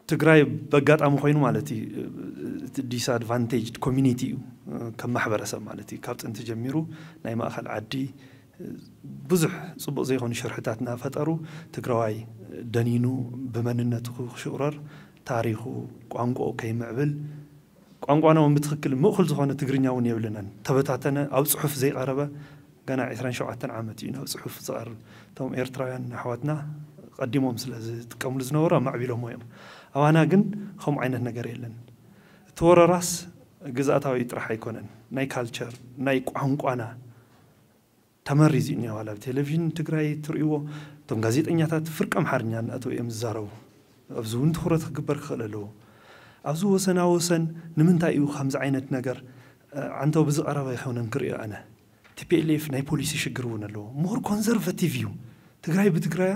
ትግራይ በጋጣሚ ኮይኑ ማለት እዩ፣ እቲ ዲስኣድቫንቴጅድ ኮሚኒቲ እዩ። ከም ማሕበረሰብ ማለት እዩ፣ ካብ ጥንቲ ጀሚሩ ናይ ማእኸል ዓዲ ብዙሕ ፅቡቕ ዘይኮኑ ሽርሕታት እናፈጠሩ ትግራዋይ ደኒኑ ብመንነቱ ክሽቑረር፣ ታሪኹ፣ ቋንቋኡ ከይምዕብል፣ ቋንቋና እውን ብትኽክል ምእኹል ዝኾነ ትግርኛ እውን የብልናን። ተበታተነ፣ ኣብ ፅሑፍ ዘይቐረበ፣ ገና ዕስራን ሸውዓተን ዓመት እዩ ናብ ፅሑፍ ዝቐርብ። እቶም ኤርትራውያን ኣሕዋትና ቀዲሞም ስለ ዝጥቀምሉ ዝነበሩ ኣማዕቢሎሞ እዮም። ኣባና ግን ከምኡ ዓይነት ነገር የለን። እቲ ወረራስ ግዝኣታዊ ጥራሕ ኣይኮነን፣ ናይ ካልቸር፣ ናይ ቋንቋና ተመሪዙ እዩ እኒኦ። ዋላ ኣብ ቴሌቪዥን ትግራይ ትርእይዎ፣ እቶም ጋዜጠኛታት ፍርቂ ኣምሓርኛ እናእተው እዮም ዝዛረቡ። ኣብዚ እውን ትኹረት ክግበር ክኽእል ኣለዎ። ኣብዚ ወሰና ወሰን ንምንታይ እዩ ከምዚ ዓይነት ነገር፣ እ፣ ዓንተው ብዝቐረበ ኣይኮነን ክርእዮ ኣነ። ቲ ፒ ኤል ኤፍ ናይ ፖሊሲ ሽግር እውን ኣለዎ። ሞር ኮንዘርቫቲቭ እዩ። ትግራይ ብትግራያ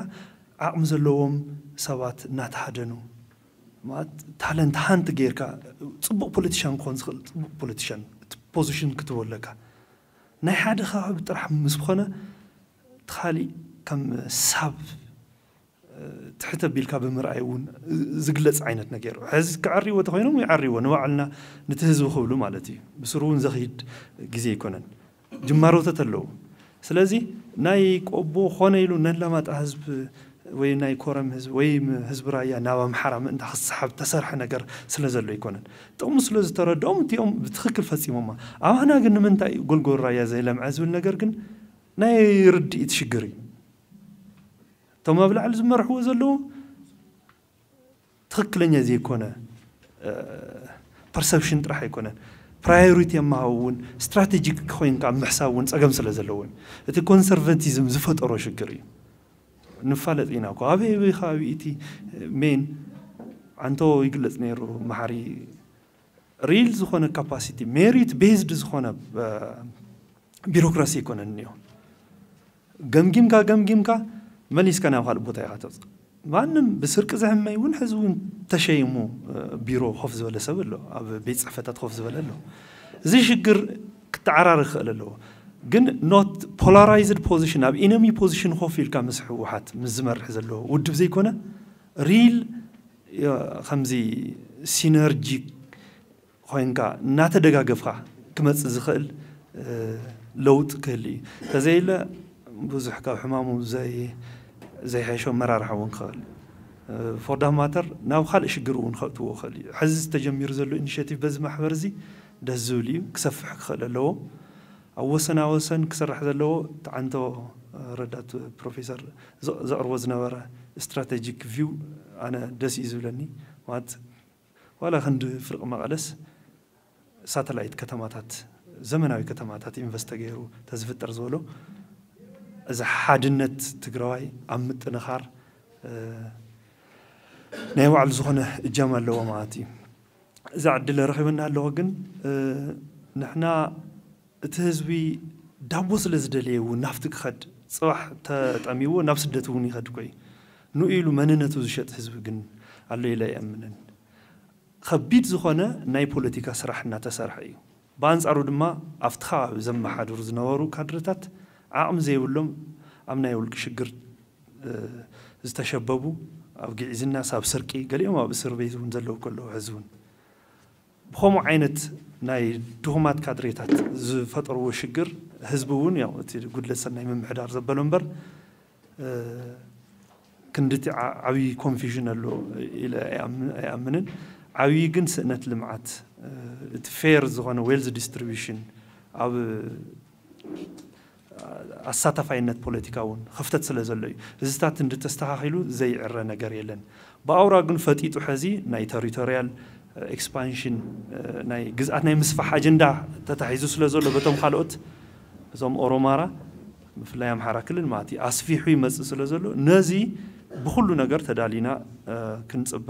ዓቕሚ ዘለዎም ሰባት እናተሃደኑ፣ ማለት ታለንት ሃንት ጌርካ ፅቡቕ ፖለቲሻን ክኾን ዝኽእል ፅቡቕ ፖለቲሻን እቲ ፖዚሽን ክትህቦ ኣለካ። ናይ ሓደ ከባቢ ጥራሕ ምስ ዝኾነ እቲ ካሊእ ከም ሳብ፣ እ፣ ትሕት ኣቢልካ ብምርኣይ እውን ዝግለፅ ዓይነት ነገር እዩ። ሕዚ ክዕርይዎ ተኾይኖም ይዕርይዎ፣ ንባዕልና ነቲ ህዝቢ ክብሉ ማለት እዩ። ብስሩ እውን ዘኽይድ ግዜ ኣይኮነን። ጅማሮታት ኣለዉ። ስለዚ ናይ ቆቦ ኮነ ኢሉ ነላማጣ ህዝቢ ወይ ናይ ኮረም ህዝቢ ወይ ም-፣ ህዝቢ ራያ ናብ ኣምሓራ ምእንታ ክሰሓብ ተሰርሐ ነገር ስለ ዘሎ ኣይኮነን። ጥቕሙ ስለ ዝተረድኦም እቲኦም ብትኽክል ፈጺሞማ። ኣባና ግን ንምንታይ እዩ ጎልጎል ራያ ዘይለምዐ ዝብል ነገር ግን ናይ ርድኢት ሽግር እዩ። እቶም ኣብ ላዕሊ ዝመርሕዎ ዘለዉ ትኽክለኛ ዘይኮነ፣ እ፣ ፐርሰፕሽን ጥራሕ ኣይኮነን። ፕራዮሪቲ የመሃው እውን ስትራቴጂክ ኮይንካ ኣብ ምሕሳብ እውን ጸገም ስለ ዘለዎን እቲ ኮንሰርቫቲዝም ዝፈጠሮ ሽግር እዩ። ንፋለጥ ኢና እኮ። ኣበይ ኣበይ ከባቢ እቲ ሜን ዓንቶ ይግለጽ ነይሩ፣ መሓሪ ሪል ዝኾነ ካፓሲቲ፣ ሜሪት ቤዝድ ዝኾነ፣ እ፣ ቢሮክራሲ ኣይኮነን እኒኦ። ገምጊምካ ገምጊምካ መሊስካ ናብ ካልእ ቦታ ኢኻ ተውፅእ። ማንም ብስርቂ ዝሕመይ እውን ሕዚ እውን ተሸይሙ፣ እ፣ ቢሮ ኮፍ ዝበለ ሰብ ኣሎ፣ ኣብ ቤት ፅሕፈታት ኮፍ ዝበለ ኣሎ። እዚ ሽግር ክተዓራረ ክኽእል ኣለዎ። ግን ኖት ፖላራይዝድ ፖዚሽን፣ ኣብ ኢነሚ ፖዚሽን ኮፍ ኢልካ ምስ ህወሓት ምስ ዝመርሕ ዘሎ ውድብ ዘይኮነ ሪል፣ እ፣ ከምዚ ሲነርጂ ኮይንካ እናተደጋገፍካ ክመጽእ ዝኽእል፣ እ፣ ለውጢ ክህሉ እዩ። ተዘይለ ብዙሕ ካብ ሕማሙ ዘይ-፣ ዘይሕሾ መራርሓ እውን ክኽእል እዩ። እ፣ ፎር ዳት ማተር ናብ ካልእ ሽግር እውን ከእትዎ ክኽእል እዩ። ሕዚ ዝተጀሚሩ ዘሎ ኢኒሼቲቭ በዚ ማሕበር እዚ ደስ ዝብል እዩ፣ ክሰፍሕ ክኽእል ኣለዎ። ኣብ ወሰና ወሰን ክስራሕ ዘለዎ ተዓንቶ፣ እ፣ ረዳት ፕሮፌሰር ዘ-፣ ዘቕርቦ ዝነበረ ስትራቴጂክ ቪው ኣነ ደስ እዩ ዝብለኒ። ማለት ዋላ ክንዲ ፍርቂ መቐለስ ሳተላይት ከተማታት፣ ዘመናዊ ከተማታት ኢንቨስት ተገይሩ ተዝፍጠር ዝበሎ፣ እዚ ሓድነት ትግራዋይ ኣብ ምጥንኻር፣ እ፣ ናይ ባዕሉ ዝኾነ እጃም ኣለዎ ማለት እዩ። እዛ ዕድል ረኺብና ኣለዎ፣ ግን፣ እ፣ ንሕና እቲ ህዝቢ ዳቦ ስለ ዝደለየ እውን ናብቲ ክኸድ፣ ጽባሕ ተጠሚዎ ናብ ስደት እውን ይኸድ እኮ እዩ። ንኡ ኢሉ መንነቱ ዝሸጥ ህዝቢ ግን ኣሎ ኢለ ኣይኣምንን። ከቢድ ዝኾነ ናይ ፖለቲካ ስራሕ እናተሰርሐ እዩ። ብኣንጻሩ ድማ ኣብቲ ከባቢ ዘመሓድሩ ዝነበሩ ካድረታት ዓቕሚ ዘይብሎም ኣብ ናይ ውልቂ ሽግር፣ እ፣ ዝተሸበቡ፣ ኣብ ግዒዝናስ ኣብ ስርቂ፣ ገሊኦም ኣብ እስር ቤት እውን ዘለዉ ከለዉ ሕዚ እውን ብኸምኡ ዓይነት ናይ ድኹማት ካድሬታት ዝፈጠርዎ ሽግር ህዝቢ እውን ያው እቲ ጉድለት ሰናይ ምምሕዳር ዘበሎ እምበር፣ እ፣ ክንድቲ ዓ-፣ ዓብዪ ኮንፊዥን ኣሎ ኢለ ኣይኣም-፣ ኣይኣምንን። ዓብዪ ግን ስእነት ልምዓት፣ እ፣ እቲ ፌር ዝኾነ ዌልዝ ዲስትሪቢዩሽን ኣብ ኣሳታፋይነት ፖለቲካ እውን ክፍተት ስለ ዘሎ እዩ። እዚታት እንድተስተኻኺሉ ዘይዕረ ነገር የለን። ብኣውራ ግን ፈጢጡ ሕዚ ናይ ተሪቶሪያል ኤክስፓንሽን፣ ናይ ግዝኣት ናይ ምስፋሕ ኣጀንዳ ተታሒዙ ስለ ዘሎ በቶም ካልኦት እዞም ኦሮማራ ብፍላይ ኣምሓራ ክልል ማለት እዩ ኣስፊሑ ይመጽእ ስለ ዘሎ ነዚ ብኹሉ ነገር ተዳሊና፣ እ፣ ክንጽበ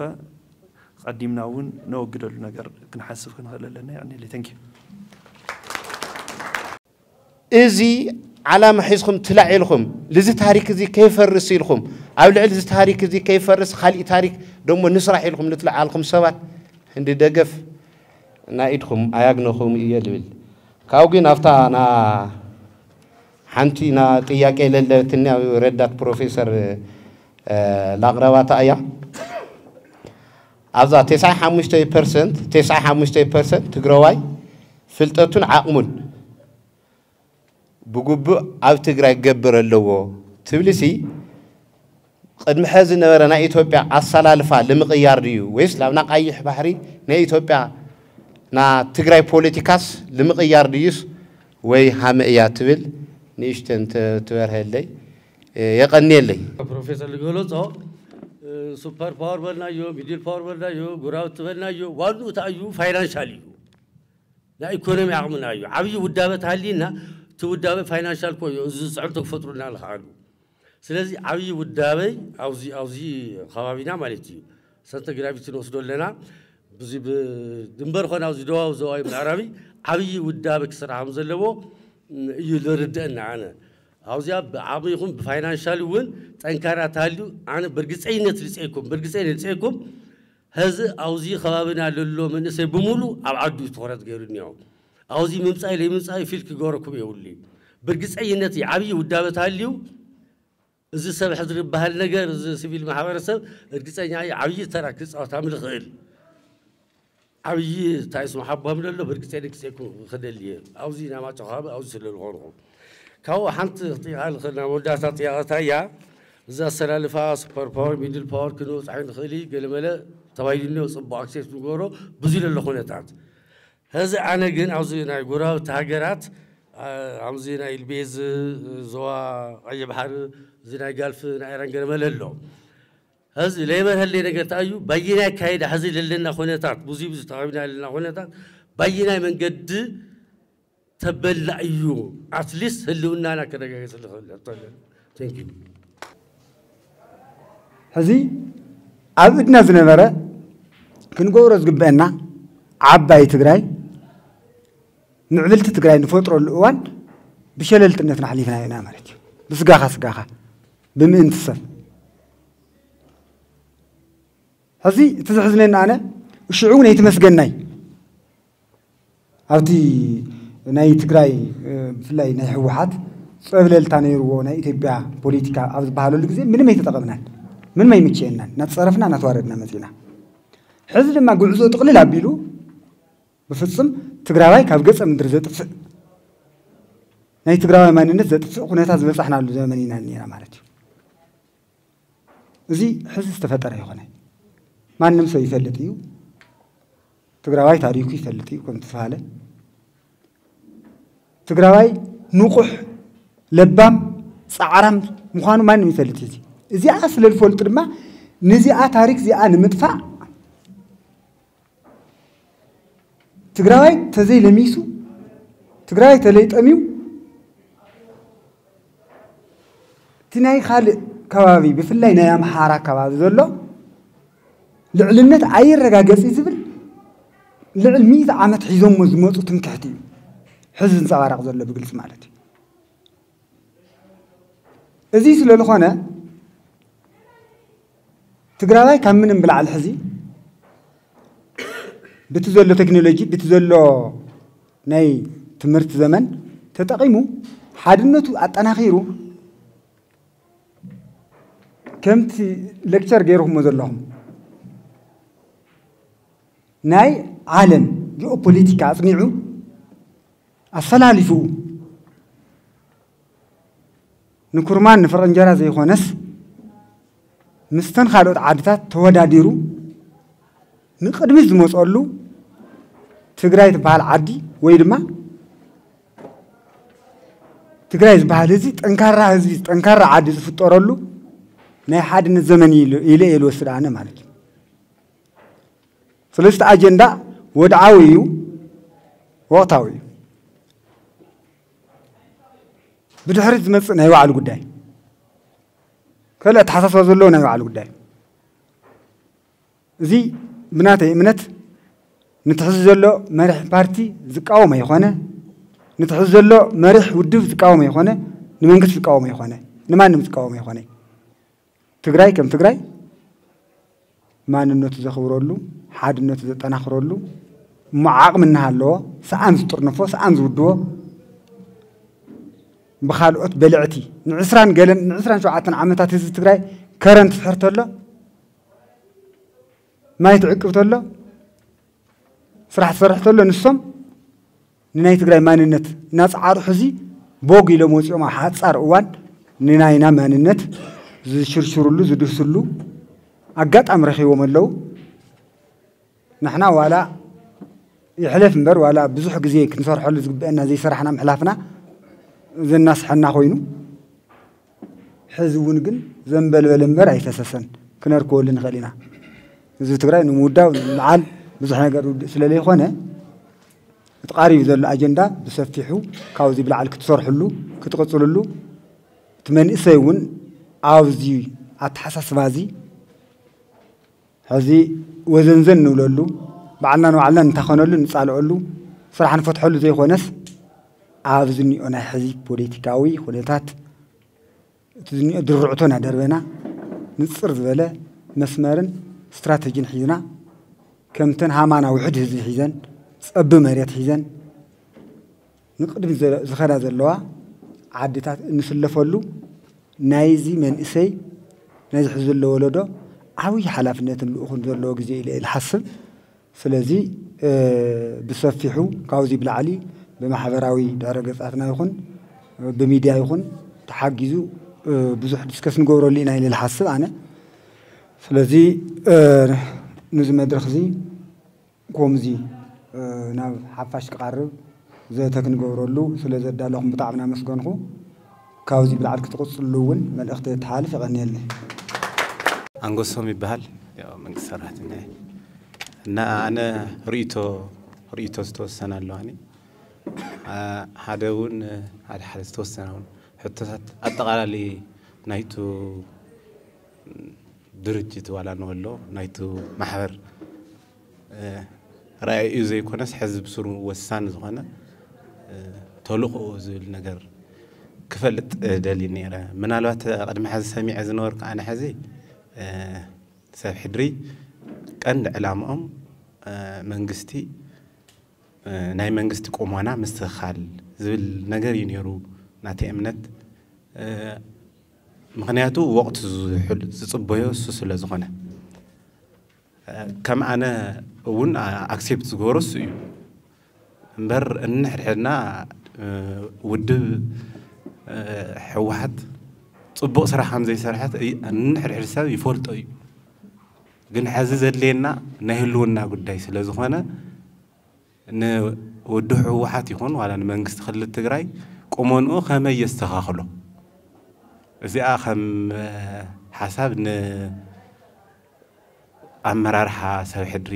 ቀዲምና እውን ነወግደሉ ነገር ክንሓስብ ክንኽእል ኣለና። ይቐንየለይ። Thank you። እዚ ዓላማ ሒዝኩም ትላዕ ኢልኩም፣ ልዚ ታሪክ እዚ ከይፈርስ ኢልኩም፣ ኣብ ልዕሊ እዚ ታሪክ እዚ ከይፈርስ ካሊእ ታሪክ ደሞ ንስራሕ ኢልኩም ልትለዓልኩም ሰባት፣ እንዲ ደገፍ ናይ ኢድኩም ኣያግነኹም እየ ልብል። ካብኡ ግን ኣብታ ና-፣ ሓንቲ ና ጥያቄ ለለትኒ ኣብ ረዳት ፕሮፌሰር፣ እ፣ ላቕረባታ እያ። ኣብዛ ተስዓይ ሓሙሽተ ፐርሰንት፣ ተስዓይ ሓሙሽተ ፐርሰንት ትግራዋይ ፍልጠቱን ዓቕሙን ብግቡእ ኣብ ትግራይ ክገብር ኣለዎ ትብልሲ፣ ቅድሚ ሕዚ ዝነበረ ናይ ኢትዮጵያ ኣሰላልፋ ልምቕያር ድዩ ወይስ ላብና ቀይሕ ባሕሪ ናይ ኢትዮጵያ ና ትግራይ ፖለቲካስ ልምቕያር ድዩስ ወይ ሃመ እያ ትብል ንእሽተን ተ- ትበርሀለይ። የቐንየለይ። ፕሮፌሰር ዝገለጾ፣ እ፣ ሱፐር ፓወር በልናዮ፣ ሚድል ፓወር በልናዮ፣ ጉራውት በልናዮ፣ ዋንኡ እንታይ እዩ? ፋይናንሻል እዩ። ናይ ኢኮኖሚ ዓቕምና እዩ። ዓብዪ ውዳበ ተሃልይና፣ እቲ ውዳበ ፋይናንሻል እኮ እዩ። እዚ ጽዕንቶ ክፈጥሩና ዝኸኣሉ። ስለዚ ዓብዪ ውዳበይ ኣብዚ፣ ኣብዚ ከባቢና ማለት እዩ። ሰንተር ግራቪቲ ንወስዶ ኣለና። ብዙ ብ-፣ ድንበር ኾነ ኣብዚ ደቡባዊ ዞባዊ ምዕራብይ ዓብዪ ውዳበ ክስራሕ ከም ዘለዎ እዩ ዝርድአና ኣነ። ኣብዚኣ ብዓቕሚ ይኹን ብፋይናንሻል እውን ጠንካራ ተሃልዩ ኣነ ብርግፀይነት ልፅኤኩም፣ ብርግፀይነት ልፅኤኩም። ሕዚ ኣብዚ ከባቢና ለሎ መንእሰይ ብምሉ ኣብ ዓዱ እዩ ትኹረት ገይሩ እኒኦ። ኣብዚ ምምፃእ ለይምምፃእ ፊል ክገረኩም የብሉ እዩ። ብርግፀይነት እዩ ዓብዪ ውዳበ ተሃልዩ እዚ ሰብ ሕድሪ ዝበሃል ነገር፣ እዚ ሲቪል ማሕበረሰብ እርግፀኛ እየ ዓብዪ ተራ ክፃወት ኣም ልኽእል። ዓብዪ እንታይ ስሙ ሓቦም ደሎ ብርግፀ ንግፀኩም ክደሊ እየ። ኣብዚ ናማጮ ከባቢ ኣብዚ ስለ ዝኾንኹ። ካብኡ ሓንቲ ጥያቐ ልኽእል፣ ናብ መወዳእታ ጥያቐታ እያ። እዚ ኣሰላልፋ ሱፐር ፓወር፣ ሚድል ፓወር ክንበፅሕ ንኽእል እዩ፣ ገለመለ ተባሂሉ እኒኦ፣ ፅቡቕ ኣክሴፕት ንገበሮ፣ ብዙ ለሎ ኩነታት። ሕዚ ኣነ ግን ኣብዚ ናይ ጎረባብቲ ሃገራት፣ ኣ-፣ ኣብዚ ናይ ቤዝ ዞባ ቀይሕ ባሕሪ፣ እዚ ናይ ጋልፍ ናይ ኢራን ገለመለ ኣሎ። ሕዚ ለይበርሀለይ ነገር እንታይ እዩ? ባየናይ ኣካይዳ ሕዚ ለለና ኩነታት፣ ብዙ ብዙ ተቓቢና ለለና ኩነታት፣ ባየናይ መንገዲ ተበላ እዩ? ኣትሊስት ህልውናና ከረጋገጽ ንኽእል። Thank you። ሕዚ ኣብ እድና ዝነበረ ክንገብሮ ዝግበአና ዓባይ ትግራይ፣ ምዕብልቲ ትግራይ ንፈጥረሉ እዋን ብሸለልትነትና ኣሕሊፍናዮ ኢና ማለት እዩ። ብስጋኻ ስጋኻ፣ ብምእንቲ ሰብ። ሕዚ እቲ ዘሕዝነኒ ኣነ፣ ሽዑ እውን ኣይትመስገናይ። ኣብቲ ናይ ትግራይ፣ እ፣ ብፍላይ ናይ ህወሓት ጸብለልታ ነይርዎ ናይ ኢትዮጵያ ፖለቲካ ኣብ ዝበሃለሉ ግዜ ምንም ኣይተጠቐምናን፣ ምንም ኣይምችየናን፣ እናተጸረፍና እናተዋረድና መጺና። ሕዚ ድማ ጉዕዞ ጥቕልል ኣቢሉ ብፍጹም ትግራዋይ ካብ ገጸ ምድሪ ዘጥፍእ፣ ናይ ትግራዋይ ማንነት ዘጥፍእ ኩነታት ዝበጻሕናሉ ዘመን ኢና ነይና ማለት እዩ። እዚ ሕዚ ዝተፈጠረ ይኾነ። ማንም ሰብ ይፈልጥ እዩ። ትግራዋይ ታሪኩ ይፈልጥ እዩ። ከም ዝተባሃለ ትግራዋይ ንቑሕ፣ ለባም፣ ጻዕራም ምዃኑ ማንም ይፈልጥ እዩ። እዚኣ ስለ ዝፈልጡ ድማ ነዚኣ ታሪክ እዚኣ ንምጥፋእ ትግራዋይ ተዘይ ለሚሱ፣ ትግራዋይ ተለይ ጠምዩ፣ እቲ ናይ ካልእ ከባቢ ብፍላይ ናይ ኣምሓራ ከባቢ ዘሎ ልዕልነት ኣይረጋገጽ ዝብል ልዕል ሚእቲ ዓመት ሒዞሞ ዝመፁ ትምክሕቲ እዩ ሕዚ ዝንፀባረቕ ዘሎ ብግልፂ ማለት እዩ። እዚ ስለ ዝኾነ ትግራዋይ ካብ ምንም ብላዕሊ ሕዚ ብቲ ዘሎ ቴክኖሎጂ ብቲ ዘሎ ናይ ትምህርቲ ዘመን ተጠቒሙ ሓድነቱ ኣጠናኺሩ ከምቲ ሌክቸር ገይርኩሞ ዘለኹም ናይ ዓለም ጂኦፖለቲካ ኣፅኒዑ ኣፈላሊፉ ንኩርማን ንፍረንጀራ ዘይኮነስ ምስተን ካልኦት ዓድታት ተወዳዲሩ ንቅድሚት ዝመፀሉ ትግራይ ትበሃል ዓዲ ወይ ድማ ትግራይ ዝበሃል ህዝቢ ጠንካራ ህዝቢ ጠንካራ ዓዲ ዝፍጠረሉ ናይ ሓድነት ዘመን ኢለ እየ ዝወስድ ኣነ ማለት እዩ። ስለዚ እቲ ኣጀንዳ ወድዓዊ እዩ፣ ወቕታዊ እዩ። ብድሕሪት ዝመፅእ ናይ ባዕሉ ጉዳይ፣ ካልእ ኣተሓሳስባ ዘለዎ ናይ ባዕሉ ጉዳይ። እዚ ብናተይ እምነት ነቲ ሕዚ ዘሎ መሪሕ ፓርቲ ዝቃወም ኣይኾነ፣ ነቲ ሕዚ ዘሎ መሪሕ ውድብ ዝቃወም ኣይኾነ፣ ንመንግስቲ ዝቃወም ኣይኾነ፣ ንማንም ዝቃወም ኣይኾነ። ትግራይ ከም ትግራይ ማንነቱ ዘኽብረሉ፣ ሓድነቱ ዘጠናኽረሉ፣ እሞ ዓቕሚ እናሃለዎ ሰኣን ዝጥርንፎ፣ ሰኣን ዝውድቦ ብኻልኦት በልዕቲ ንዕስራን ገለን ንዕስራን ሸውዓተን ዓመታት ህዝቢ ትግራይ ከረን ትስሕር ተሎ ማይ ትዕቅብ ተሎ፣ ስራሕ ትሰርሕ ተሎ፣ ንሶም ንናይ ትግራይ ማንነት እናፀዓሩ ሕዚ ቦግ ኢሎም ወፂኦም ኣብ ሓፃር እዋን ንናይና ማንነት ዝሽርሽሩሉ ዝድህስሉ ኣጋጣሚ ረኺቦም ኣለዉ። ንሕና ዋላ ይሕለፍ እምበር ዋላ ብዙሕ ግዜ ክንሰርሐሉ ዝግበአና ዘይሰራሕና ምሕላፍና ዘናስሐና ኮይኑ፣ ሕዚ እውን ግን ዘንበልበለ እምበር ኣይፈሰሰን ክነርከበሉ ንኽእል ኢና። ህዝቢ ትግራይ ንምውዳው ንምልዓል ብዙሕ ነገር ውድእ ስለ ዘይኮነ፣ እቲ ቃሪብ ዘሎ ኣጀንዳ ብሰፊሑ ካብዚ ብላዕሊ ክትሰርሕሉ ክትቕፅልሉ፣ እቲ መንእሰይ እውን ኣብዚ ኣተሓሳስባ እዚ ሕዚ ወዘንዘን ንብለሉ፣ ባዕልና ንባዕልና ንታኸነሉ ንፃልኦሉ፣ ስራሕ ንፈትሐሉ ዘይኮነስ ኣብዚ እኒኦ ናይ ሕዚ ፖለቲካዊ ኩነታት እቲ ዝኒኦ ድርዕቶ እናደርበና ንፅር ዝበለ መስመርን ስትራተጂን ሒዝና ከምተን ሃማና ውሕድ ህዝቢ ሒዘን ፀቢ መሬት ሒዘን ንቅድሚ ዝኸዳ ዘለዋ ዓድታት እንስለፈሉ ናይዚ መንእሰይ ናይዚ ሕዚ ዘሎ ወለዶ ዓብዪ ሓላፍነትን ልኡኹን ዘለዎ ግዜ ኢለ እየ ዝሓስብ። ስለዚ ብሰፊሑ ካብዚ ብላዕሊ ብማሕበራዊ ድሕረ ገጻትና ይኹን ብሚድያ ይኹን ተሓጊዙ ብዙሕ ዲስከስ ንገብረሉ ኢና ኢለ ዝሓስብ ኣነ። ስለዚ ንዚ መድረኽ እዚ ከምዚ ናብ ሓፋሽ ክቐርብ ዘተ ክንገብረሉ ስለ ዘዳለኹም ብጣዕሚ እናመስገንኩ፣ ካብዚ ብላዕሊ ክትቕፅሉ እውን መልእኽቲ ተሓልፍ። የቐንየለይ። ኣንጎሶም ይበሃል። ያው መንግስቲ ሰራሕተኛ እየ። እና ኣነ ርእይቶ ርእይቶ ዝተወሰነ ኣለዋኒ። ሓደ እውን ሓደ ሓደ ዝተወሰነ እውን ሕቶታት ኣጠቓላሊ ናይቱ ድርጅት ዋላ ንበሎ ናይቱ ማሕበር ራእዩ ዘይኮነስ ሕዚ ብስሩ ወሳኒ ዝኾነ ተልእኮኡ ዝብል ነገር ክፈልጥ ደልየ ነይረ። ምናልባት ቅድሚ ሕዚ ሰሚዐ ዝነበርኩ ኣነ ሕዚ ሰብ ሕድሪ ቀንዲ ዕላምኦም መንግስቲ ናይ መንግስቲ ቁመና ምስትኽኻል ዝብል ነገር እዩ ነይሩ ናተይ እምነት። ምኽንያቱ ወቕቱ ዝጽበዮ እሱ ስለ ዝኾነ። ከም ኣነ እውን ኣክሴፕት ዝገብሮ እሱ እዩ። እምበር እንሕድሕድና ውድብ ህወሓት ጽቡቕ ስራሕ ከም ዘይሰርሐት እንሕድሕድ ሰብ ይፈልጦ እዩ። ግን ሕዚ ዘድልየና ናይ ህልውና ጉዳይ ስለ ዝኾነ ንውድብ ህወሓት ይኹን ዋላ ንመንግስቲ ክልል ትግራይ ቁመንኡ ከመይ የስተኻኽሎ፣ እዚኣ ከም ሓሳብ ን ኣመራርሓ ሰብ ሕድሪ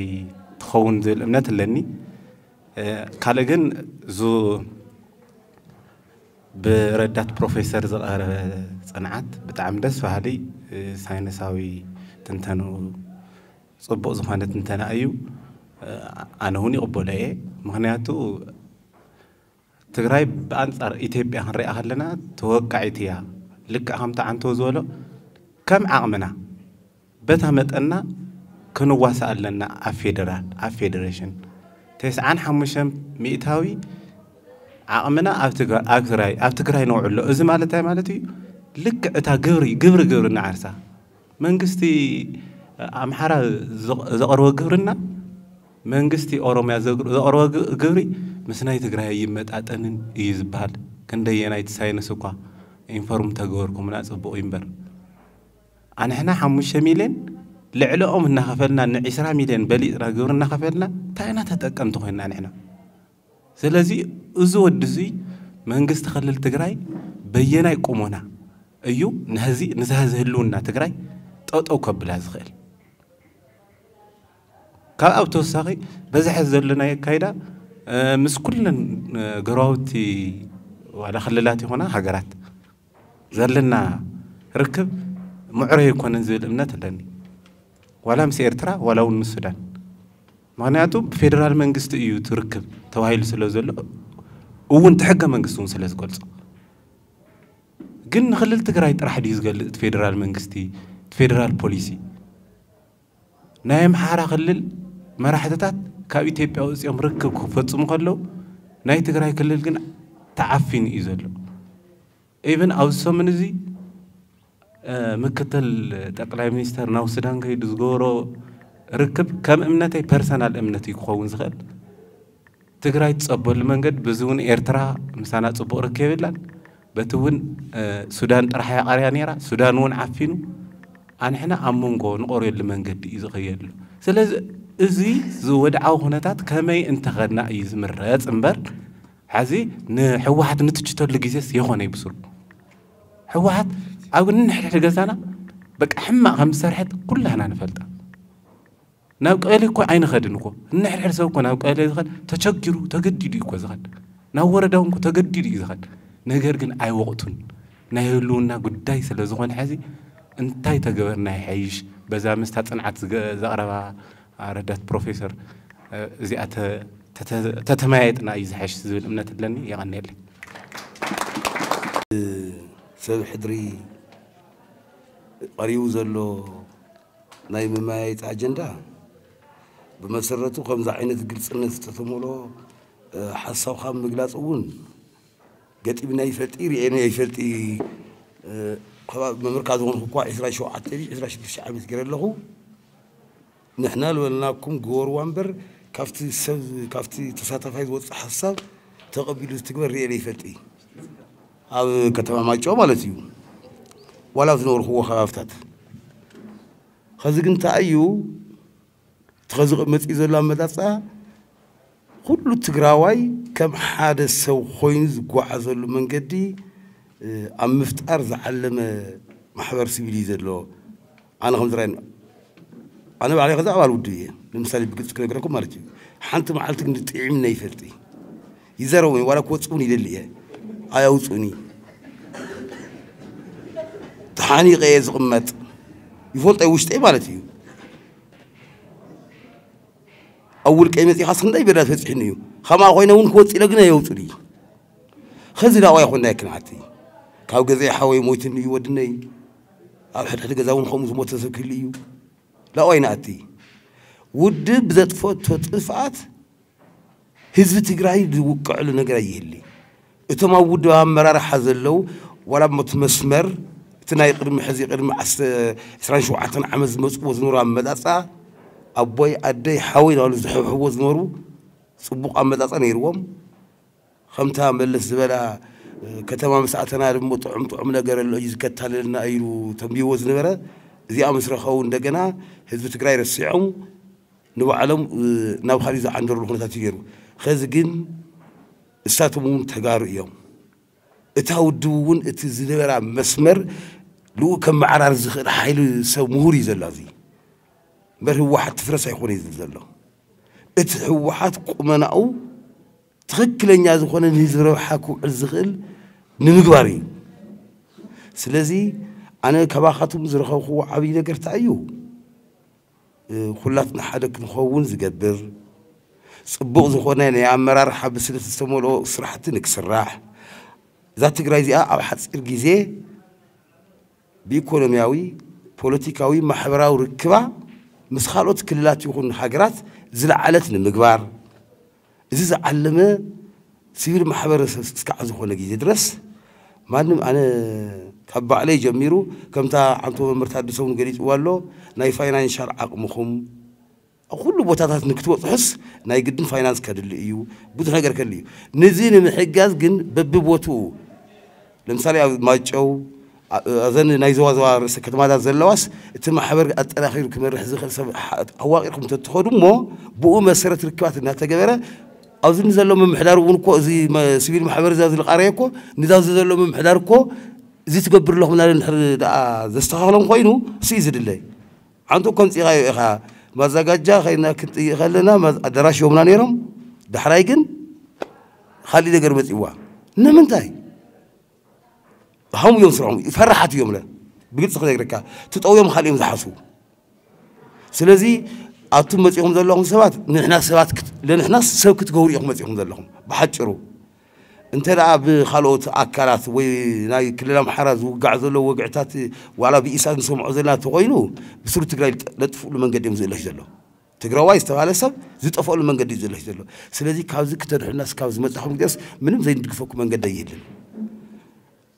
ትኸውን ዝብል እምነት ኣለኒ። ካልእ ግን ዙ ብረዳት ፕሮፌሰር ዝቐረበ ፅንዓት ብጣዕሚ ደስ በሃሊ ሳይንሳዊ ትንተንኡ ፅቡቕ ዝኾነ ትንተና እዩ። ኣነ እውን ይቕበሎ እየ። ምኽንያቱ ትግራይ ብኣንፃር ኢትዮጵያ ክንሪኣ ከለና ተወቃዒት እያ። ልክዕ ከምቲ ዓንቶ ዝበሎ ከም ዓቕምና በታ መጠንና ክንዋሳእ ኣለና። ኣብ ፌደራል ኣብ ፌደሬሽን ተስዓን ሓሙሽተን ሚእታዊ ዓቕምና ኣብ ትግራይ ኣብ ትግራይ ነውዕሎ። እዚ ማለት እንታይ ማለት እዩ? ልክዕ እታ ግብሪ ግብሪ ግብሪ እናዓርሳ መንግስቲ ኣምሓራ ዘቕርቦ ግብርና መንግስቲ ኦሮሚያ ዘቕርቦ ግብሪ ምስ ናይ ትግራይ ኣይመጣጠንን እዩ ዝበሃል። ክንደየናይ እቲ ሳይንስ እኳ ኢንፎርም ተገበርኩምና ጽቡቕ እዩ እምበር ኣንሕና ሓሙሽተ ሚልዮን ልዕለኦም እናኸፈልና ንዒስራ ሚልዮን በሊፅና ግብሪ እናኸፈልና እንታይ ኢና ተጠቀምቲ ኮይንና ንሕና? ስለዚ እዚ ወዲ እዚ መንግስቲ ክልል ትግራይ በየናይ ቁመና እዩ ንህዚ ንዛ ህዚ ህልውና ትግራይ ጠጠው ከብላ ዝኽእል? ካብ ኣብ ተወሳኺ በዚ ሕዚ ዘለናዮ ኣካይዳ ምስ ኩለን ጎረባብቲ ዋላ ክልላት ይኾና ሃገራት ዘለና ርክብ ምዕሩይ ኣይኮነን ዝብል እምነት ኣለኒ። ዋላ ምስ ኤርትራ ዋላ እውን ምስ ሱዳን። ምኽንያቱ ብፌደራል መንግስቲ እዩ እቲ ርክብ ተባሂሉ ስለ ዘሎ እውን እቲ ሕገ መንግስቲ እውን ስለ ዝገልጾ። ግን ንክልል ትግራይ ጥራሕ ድዩ ዝገልጽ እቲ ፌደራል መንግስቲ እቲ ፌደራል ፖሊሲ? ናይ ኣምሓራ ክልል መራሕትታት ካብ ኢትዮጵያ ወፂኦም ርክብ ክፈፅሙ ከለዉ ናይ ትግራይ ክልል ግን ተዓፊኑ እዩ ዘሎ። ኢብን ኣብዚ ሰሙን እዚ ምክትል ጠቅላይ ሚኒስተር ናብ ሱዳን ከይዱ ዝገበሮ ርክብ ከም እምነተይ ፐርሰናል እምነት እዩ ክኸውን ዝኽእል። ትግራይ ትጸበሉ መንገዲ፣ በዚ እውን ኤርትራ ምሳና ጽቡቕ ርክብ የብላን። በቲ እውን ሱዳን ጥራሕ እያ ቀርያ ነይራ። ሱዳን እውን ዓፊኑ፣ ኣንሕና ኣብ መንጎ ንቐርየሉ መንገዲ እዩ ዝኸየሉ። ስለዚ እዚ ዝወድዓዊ ኩነታት ከመይ እንተኸድና እዩ ዝምረጽ እምበር፣ ሕዚ ንሕወሓት ንትችተሉ ግዜስ የኾነ ይብስሩ። ሕወሓት ኣብ ንሕድሕድ ገዛና በቃ ሕማቕ ከም ዝሰርሐት ኩላህና ንፈልጣ። ናብ ቀሊ እኮ ኣይንኸድን እኮ። ንሕድሕድ ሰብ እኮ ናብ ቀሊ ዝኸድ ተቸጊሩ ተገዲዱ እዩ እኮ ዝኸድ። ናብ ወረዳውን እኮ ተገዲዱ እዩ ዝኸድ። ነገር ግን ኣይወቕቱን። ናይ ህልውና ጉዳይ ስለ ዝኾነ ሕዚ እንታይ ተገበርና ይሐይሽ? በዛ ምስታ ጽንዓት ዝገ- ዘቕረባ ረዳት ፕሮፌሰር እዚኣ ተ- ተተ- ተተመያየጥና እዩ ዝሐሽ ዝብል እምነት ኣለኒ። የቐንየለይ። ሰብ ሕድሪ ቀሪቡ ዘሎ ናይ መመያየጢ ኣጀንዳ ብመሰረቱ ከምዚ ዓይነት ግልፅነት ዝተተመሎ ሓሳብካ ምግላፅ እውን ገጢምና ይፈልጢ ርእየና ይፈልጢ። መምህርካ ዝኾንኩ እኳ ዕስራን ሸውዓተን ዕስራን ሽዱሽተ ዓመት ገይረ ኣለኹ። ንሕና ዝበልናኩም ግበርዋ እምበር ካብቲ ሰብ ካብቲ ተሳታፋይ ዝወፅእ ሓሳብ ተቐቢሉ ዝትግበር ርእየ ዘይፈልጥ እዩ። ኣብ ከተማ ማይጨው ማለት እዩ። ዋላ ኣብ ዝነበርኩዎ ከባብታት ኸዚ ግን እንታይ እዩ እቲ ኸዚ መፅኡ ዘሎ ኣመፃፅኣ ኩሉ ትግራዋይ ከም ሓደ ሰብ ኮይኑ ዝጓዓዘሉ መንገዲ ኣብ ምፍጣር ዝዓለመ ማሕበር ሲቪል እዩ ዘሎ። ኣነ ከም ዝረኣየኒ ኣነ ባዕለይ ከዚ ኣባል ውድብ እየ። ንምሳሌ ብግልፂ ክነግረኩም ማለት እዩ። ሓንቲ መዓልቲ ግን ጥዒምና ይፈልጥ ይዘረቡ ዋላ ክወፅውን ይደሊ እየ። ኣያውፅኡኒ ተሓኒቀ እየ ዝቕመጥ ይፈልጦ ውሽጠይ ማለት እዩ። ኣብ ውልቀይ መፂኻስ ክንደይ ቤላ ፈፂሕኒ እዩ። ከምኣ ኮይነ እውን ክወፅ ኢለ ግን ኣየውፅኡኒ። ኸዚ ዳዋ ይኾንና ይክንዓቲ ካብ ገዛይ ሓወይ ሞይትኒ እዩ ወድነይ። ኣብ ሕድሕድ ገዛ እውን ከምኡ ዝሞተ ሰብ ክህሉ እዩ። ላዋይ ንኣቲ ውድብ ብዘጥፈቶ ጥፍኣት ህዝቢ ትግራይ ዝውቅዐሉ ነገር ኣይህሊ። እቶም ኣብ ውድብ ኣመራርሓ ዘለዉ ዋላ ሞት መስመር እቲ ናይ ቅድሚ ሕዚ ቅድሚ ዕስራን ሸውዓተን ዓመት ዝመፅዎ ዝነበሩ ኣመፃፅኣ ኣቦይ ኣደይ ሓወይ ናሉ ዝሕብሕዎ ዝነበሩ ፅቡቕ ኣመፃፅኣ ነይርዎም። ከምታ መለስ ዝበላ ከተማ ምስ ኣተና ድማ ጥዑም ጥዑም ነገር ኣሎ እዩ ዝከታለልና ኢሉ ተንቢዎ ዝነበረ እዚኣ ምስ ረኸቡ እንደገና ህዝቢ ትግራይ ረሲዖም ንባዕሎም ናብ ካሊእ ዝዓንደርሉ ኩነታት እዩ ነይሩ። ኸዚ ግን እሳቶም እውን ተጋሩ እዮም። እታ ውድብ እውን እቲ ዝነበራ መስመር ልኡ ከመዓራር ዝኽእል ሓይሊ ሰብ ምሁር እዩ ዘሎ ኣብዚ እምበር ህወሓት ትፍረስ ኣይኮነ እዩ ዝብል ዘሎ። እቲ ህወሓት ቁመናኡ ትኽክለኛ ዝኾነ ንህዝቢ ረብሓ ክውዕል ዝኽእል ንምግባር እዩ። ስለዚ ኣነ ካባኻትኩም ዝረኸብክዎ ዓብዪ ነገር እንታይ እዩ? ኩላትና ሓደ ክንኸውን ዝገብር ፅቡቕ ዝኾነ ናይ ኣመራርሓ ብስለት ዝተመልኦ ስራሕቲ ንክስራሕ እዛ ትግራይ እዚኣ ኣብ ሓፂር ግዜ ብኢኮኖሚያዊ፣ ፖለቲካዊ፣ ማሕበራዊ ርክባ ምስ ካልኦት ክልላት ይኹን ሃገራት ዝለዓለት ንምግባር እዚ ዝዓለመ ሲቪል ማሕበረሰብ እስካዕ ዝኾነ ግዜ ድረስ ማንም ኣነ ካብ ባዕለይ ጀሚሩ ከምታ ዓንቶ መምህር ታደሰ እውን ገሊፅዋ ኣሎ ናይ ፋይናንሻል ዓቕምኹም ኣብ ኩሉ ቦታታት ንክትበፅሑስ ናይ ግድን ፋይናንስ ከድሊ እዩ። ብዙሕ ነገር ከድሊ እዩ። ነዚ ንምሕጋዝ ግን በብቦትኡ ለምሳሌ ኣብ ማይጨው እዘን ናይ ዘዋዘዋ ርእሰ ከተማታት ዘለዋስ እቲ ማሕበር ኣጠናኺሩ ክመርሕ ዝኽእል ሰብ ኣዋቂርኩም ተትኸዱ እሞ ብኡ መሰረት ርክባት እናተገበረ ኣብዚ ንዘሎ ምምሕዳር እውን እኮ እዚ ሲቪል ማሕበር እዛ ዝልቃረየ እኮ ንዛ እዚ ዘሎ ምምሕዳር እኮ እዚ ትገብር ኣለኹም ናለ እንድሕር ደኣ ዘስተኻኽሎም ኮይኑ እሱ እዩ ዝድለ። ዓንቶ ከምፂኻዮ ኢኻ ማዛጋጃ ኸይና ክንጥይእ ከለና ኣዳራሽ ዮምና ነይሮም። ዳሕራይ ግን ካሊእ ነገር መፂዋ ንምንታይ ሃሙ እዮም ስርሖም ፈራሓት እዮም ለ ብግልፂ ክነግረካ ትጠውዮም ካሊእ እዮም ዝሓስቡ። ስለዚ ኣቱም መፂኹም ዘለኹም ሰባት ንሕና ሰባት ለንሕና ሰብ ክትገብሩ ኢኹም መፂኹም ዘለኹም ብሓጭሩ እንተ ደኣ ብኻልኦት ኣካላት ወይ ናይ ክልል ኣምሓራ ዝውጋዕ ዘሎ ወግዕታት ዋላ ብኢሳት ንሰምዖ ዘለና እንተኮይኑ ብስሩ ትግራይ ለጥፍሉ መንገዲ እዮም ዝእለሽ ዘሎ። ትግራዋይ ዝተባሃለ ሰብ ዝጠፍኣሉ መንገዲ እዩ ዝእለሽ ዘሎ። ስለዚ ካብዚ ክተድሕናስ ካብ ዝመፅኹም ግደስ ምንም ዘይንድግፈኩም መንገዲ ኣይህልን።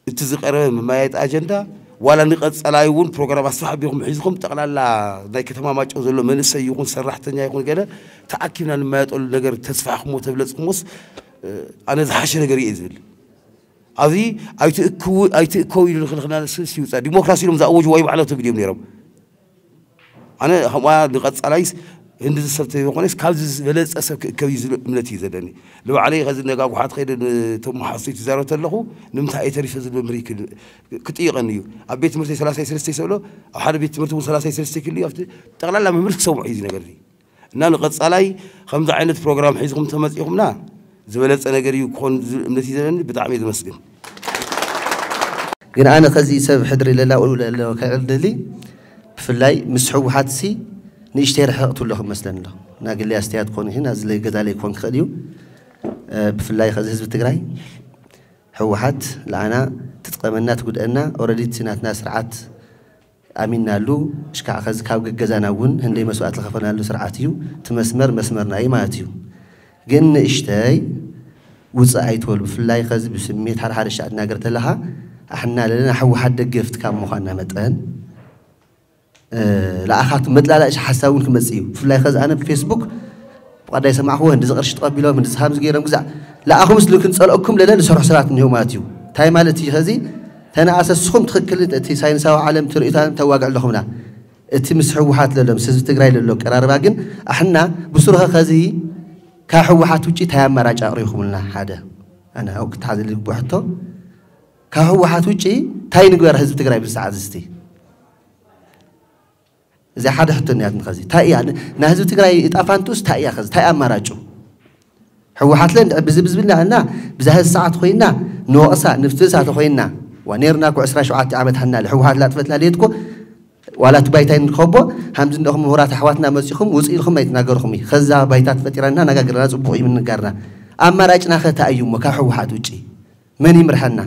እቲ ዝቀረበ መመያየጢ ኣጀንዳ ዋላ ንቐጸላይ እውን ፕሮግራም ኣስፋሕ ኣቢኹም ሒዝኹም፣ ጠቕላላ ናይ ከተማ ማይጨው ዘሎ መንእሰይ ይኹን ሰራሕተኛ ይኹን ገለ ተኣኪብና ንመያየጠሉ ነገር ተስፋሕኩሞ ተብለጽኩሞስ፣ ኣነ ዝሓሸ ነገር እየ ዝብል። ኣብዚ ኣይትእክቡ ኣይትእከቡ ኢሉ ንክልክልና ስስ ይውፃ። ዲሞክራሲ ኢሎም ዝኣወጅ ዋይ ባዕላቶም እዮም ነይሮም። ኣነ ከምኣ ንቐጻላይስ ህንዲ ዝሰብ ተይኮነስ ካብዚ ዝበለጸ ሰብ ክእከብ እዩ ዝብል እምነት እዩ ዘለኒ። ንባዕለይ ከዚ ነጋጉሓት ከይደ ነቶም መሓዙተይ ትዛረብ ተለኹ ንምንታይ እየ ተሪፈ ዝብል መምህር ይክል- ክጥይቐኒ እዩ። ኣብ ቤት ትምህርቲ ሰላሳ ሰለስተ ይሰብሎ ኣብ ሓደ ቤት ትምህርቲ እውን ሰላሳ ሰለስተ ክልዩ ኣብቲ ጠቕላላ መምህር ክሰምዑ እዩ እዚ ነገር እዚ። እና ንቐጻላይ ከምዚ ዓይነት ፕሮግራም ሒዝኩም ተመጺኹምና ዝበለጸ ነገር እዩ ክኾን ዝብል እምነት እዩ ዘለኒ። ብጣዕሚ እየ ዘመስግን። ግን ኣነ ከዚ ሰብ ሕድሪ ለላኡ ለሎ ከዕልሊ ብፍላይ ምስ ህወሓት ሲ ንእሽተይ ርሕቕ ትብሎ ክመስለኒ ኣሎ። ናግሊ ኣስተያየት ክኾን ይኽእል፣ ናዝለይ ገዛለይ ክኾን ክኽእል እዩ። እ፣ ብፍላይ ከዚ ህዝቢ ትግራይ ህወሓት ለኣና ትጥቀመና ትጉድአና፣ ኦረዲ እቲ ናትና ስርዓት ኣሚናሉ፣ እሽካዕ ከዚ ካብ ገገዛና እውን ህንደይ መስዋእቲ ዝኸፈልናሉ ስርዓት እዩ። እቲ መስመር መስመርና እዩ ማለት እዩ። ግን ንእሽተይ ውፅእ ኣይትበሉ። ብፍላይ ከዚ ብስሜት ሓደ ሓደ ሻዕ ትናገር ተለኻ ኣሕና ለለና ህወሓት ደገፍቲ ካብ ምዃንና መጠን፣ እ፣ ለኣኻት መጥላላእሽ ሓሳብ እውን ክመጽእ እዩ። ብፍላይ ከዚ ኣነ ብፌስቡክ ብቐዳይ ሰማዕኽዎ፣ ህንዲ ዝቕርሺ ተቐቢሎም፣ ህንዲ ዝሃምዝ ገይሮም ግዛዕ ለኣኹምስ ልክን ጸልኦኩም ለለ ዝሰርሑ ሰባት እኒሆ ማለት እዩ። እንታይ ማለት እዩ ከዚ? ተነኣሰስኹም ትኽክል እቲ ሳይንሳዊ ዓለም ትርእዩታን ተዋግዕ ኣለኹምና። እቲ ምስ ህወሓት ለሎ፣ ምስ ህዝቢ ትግራይ ለሎ ቀራርባ ግን ኣሕና ብስሩኸ ከዚ ካብ ህወሓት ውጭ እንታይ ኣማራጭ ኣቕሪብኩምልና? ሓደ ኣነ ኣብኡ ክተሓዘ ልግብኦ ሕቶ፣ ካብ ህወሓት ውጭ እንታይ ንግበር ህዝቢ ትግራይ ብዚ ሰዓት እዚ? እዚ ሓደ ሕቶ እኒኣትኒ። ከዚ እንታይ እያ ን-፣ ናይ ህዝቢ ትግራይ እጣ ፋንቱስ እንታይ እያ? ከዚ እንታይ ኣማራጩ? ህወሓት ለ እንድዒ ብዚ ብዝብልና እና ብዛ ህዚ ሰዓት ኮይና ንወቕሳ ንፍትሳ ተኮይና ዋ ነርና እኮ ዕስራ ሸውዓተ ዓመት ሓና ህወሓት ላጥፈትና ሌት እኮ ዋላ እቲ ባይታይ ንረኸቦ ሃምዚ እንደኹም ምሁራት ኣሕዋትና መፂኹም ውፅ ኢልኩም ኣይትናገርኹም እዩ። ከዛ ባይታ ትፈጢራና ነጋግርና ፅቡቕ እዩ ምንጋርና። ኣማራጭና ከ እንታይ እዩ እሞ ካብ ህወሓት ውጪ መን ይምርሐና?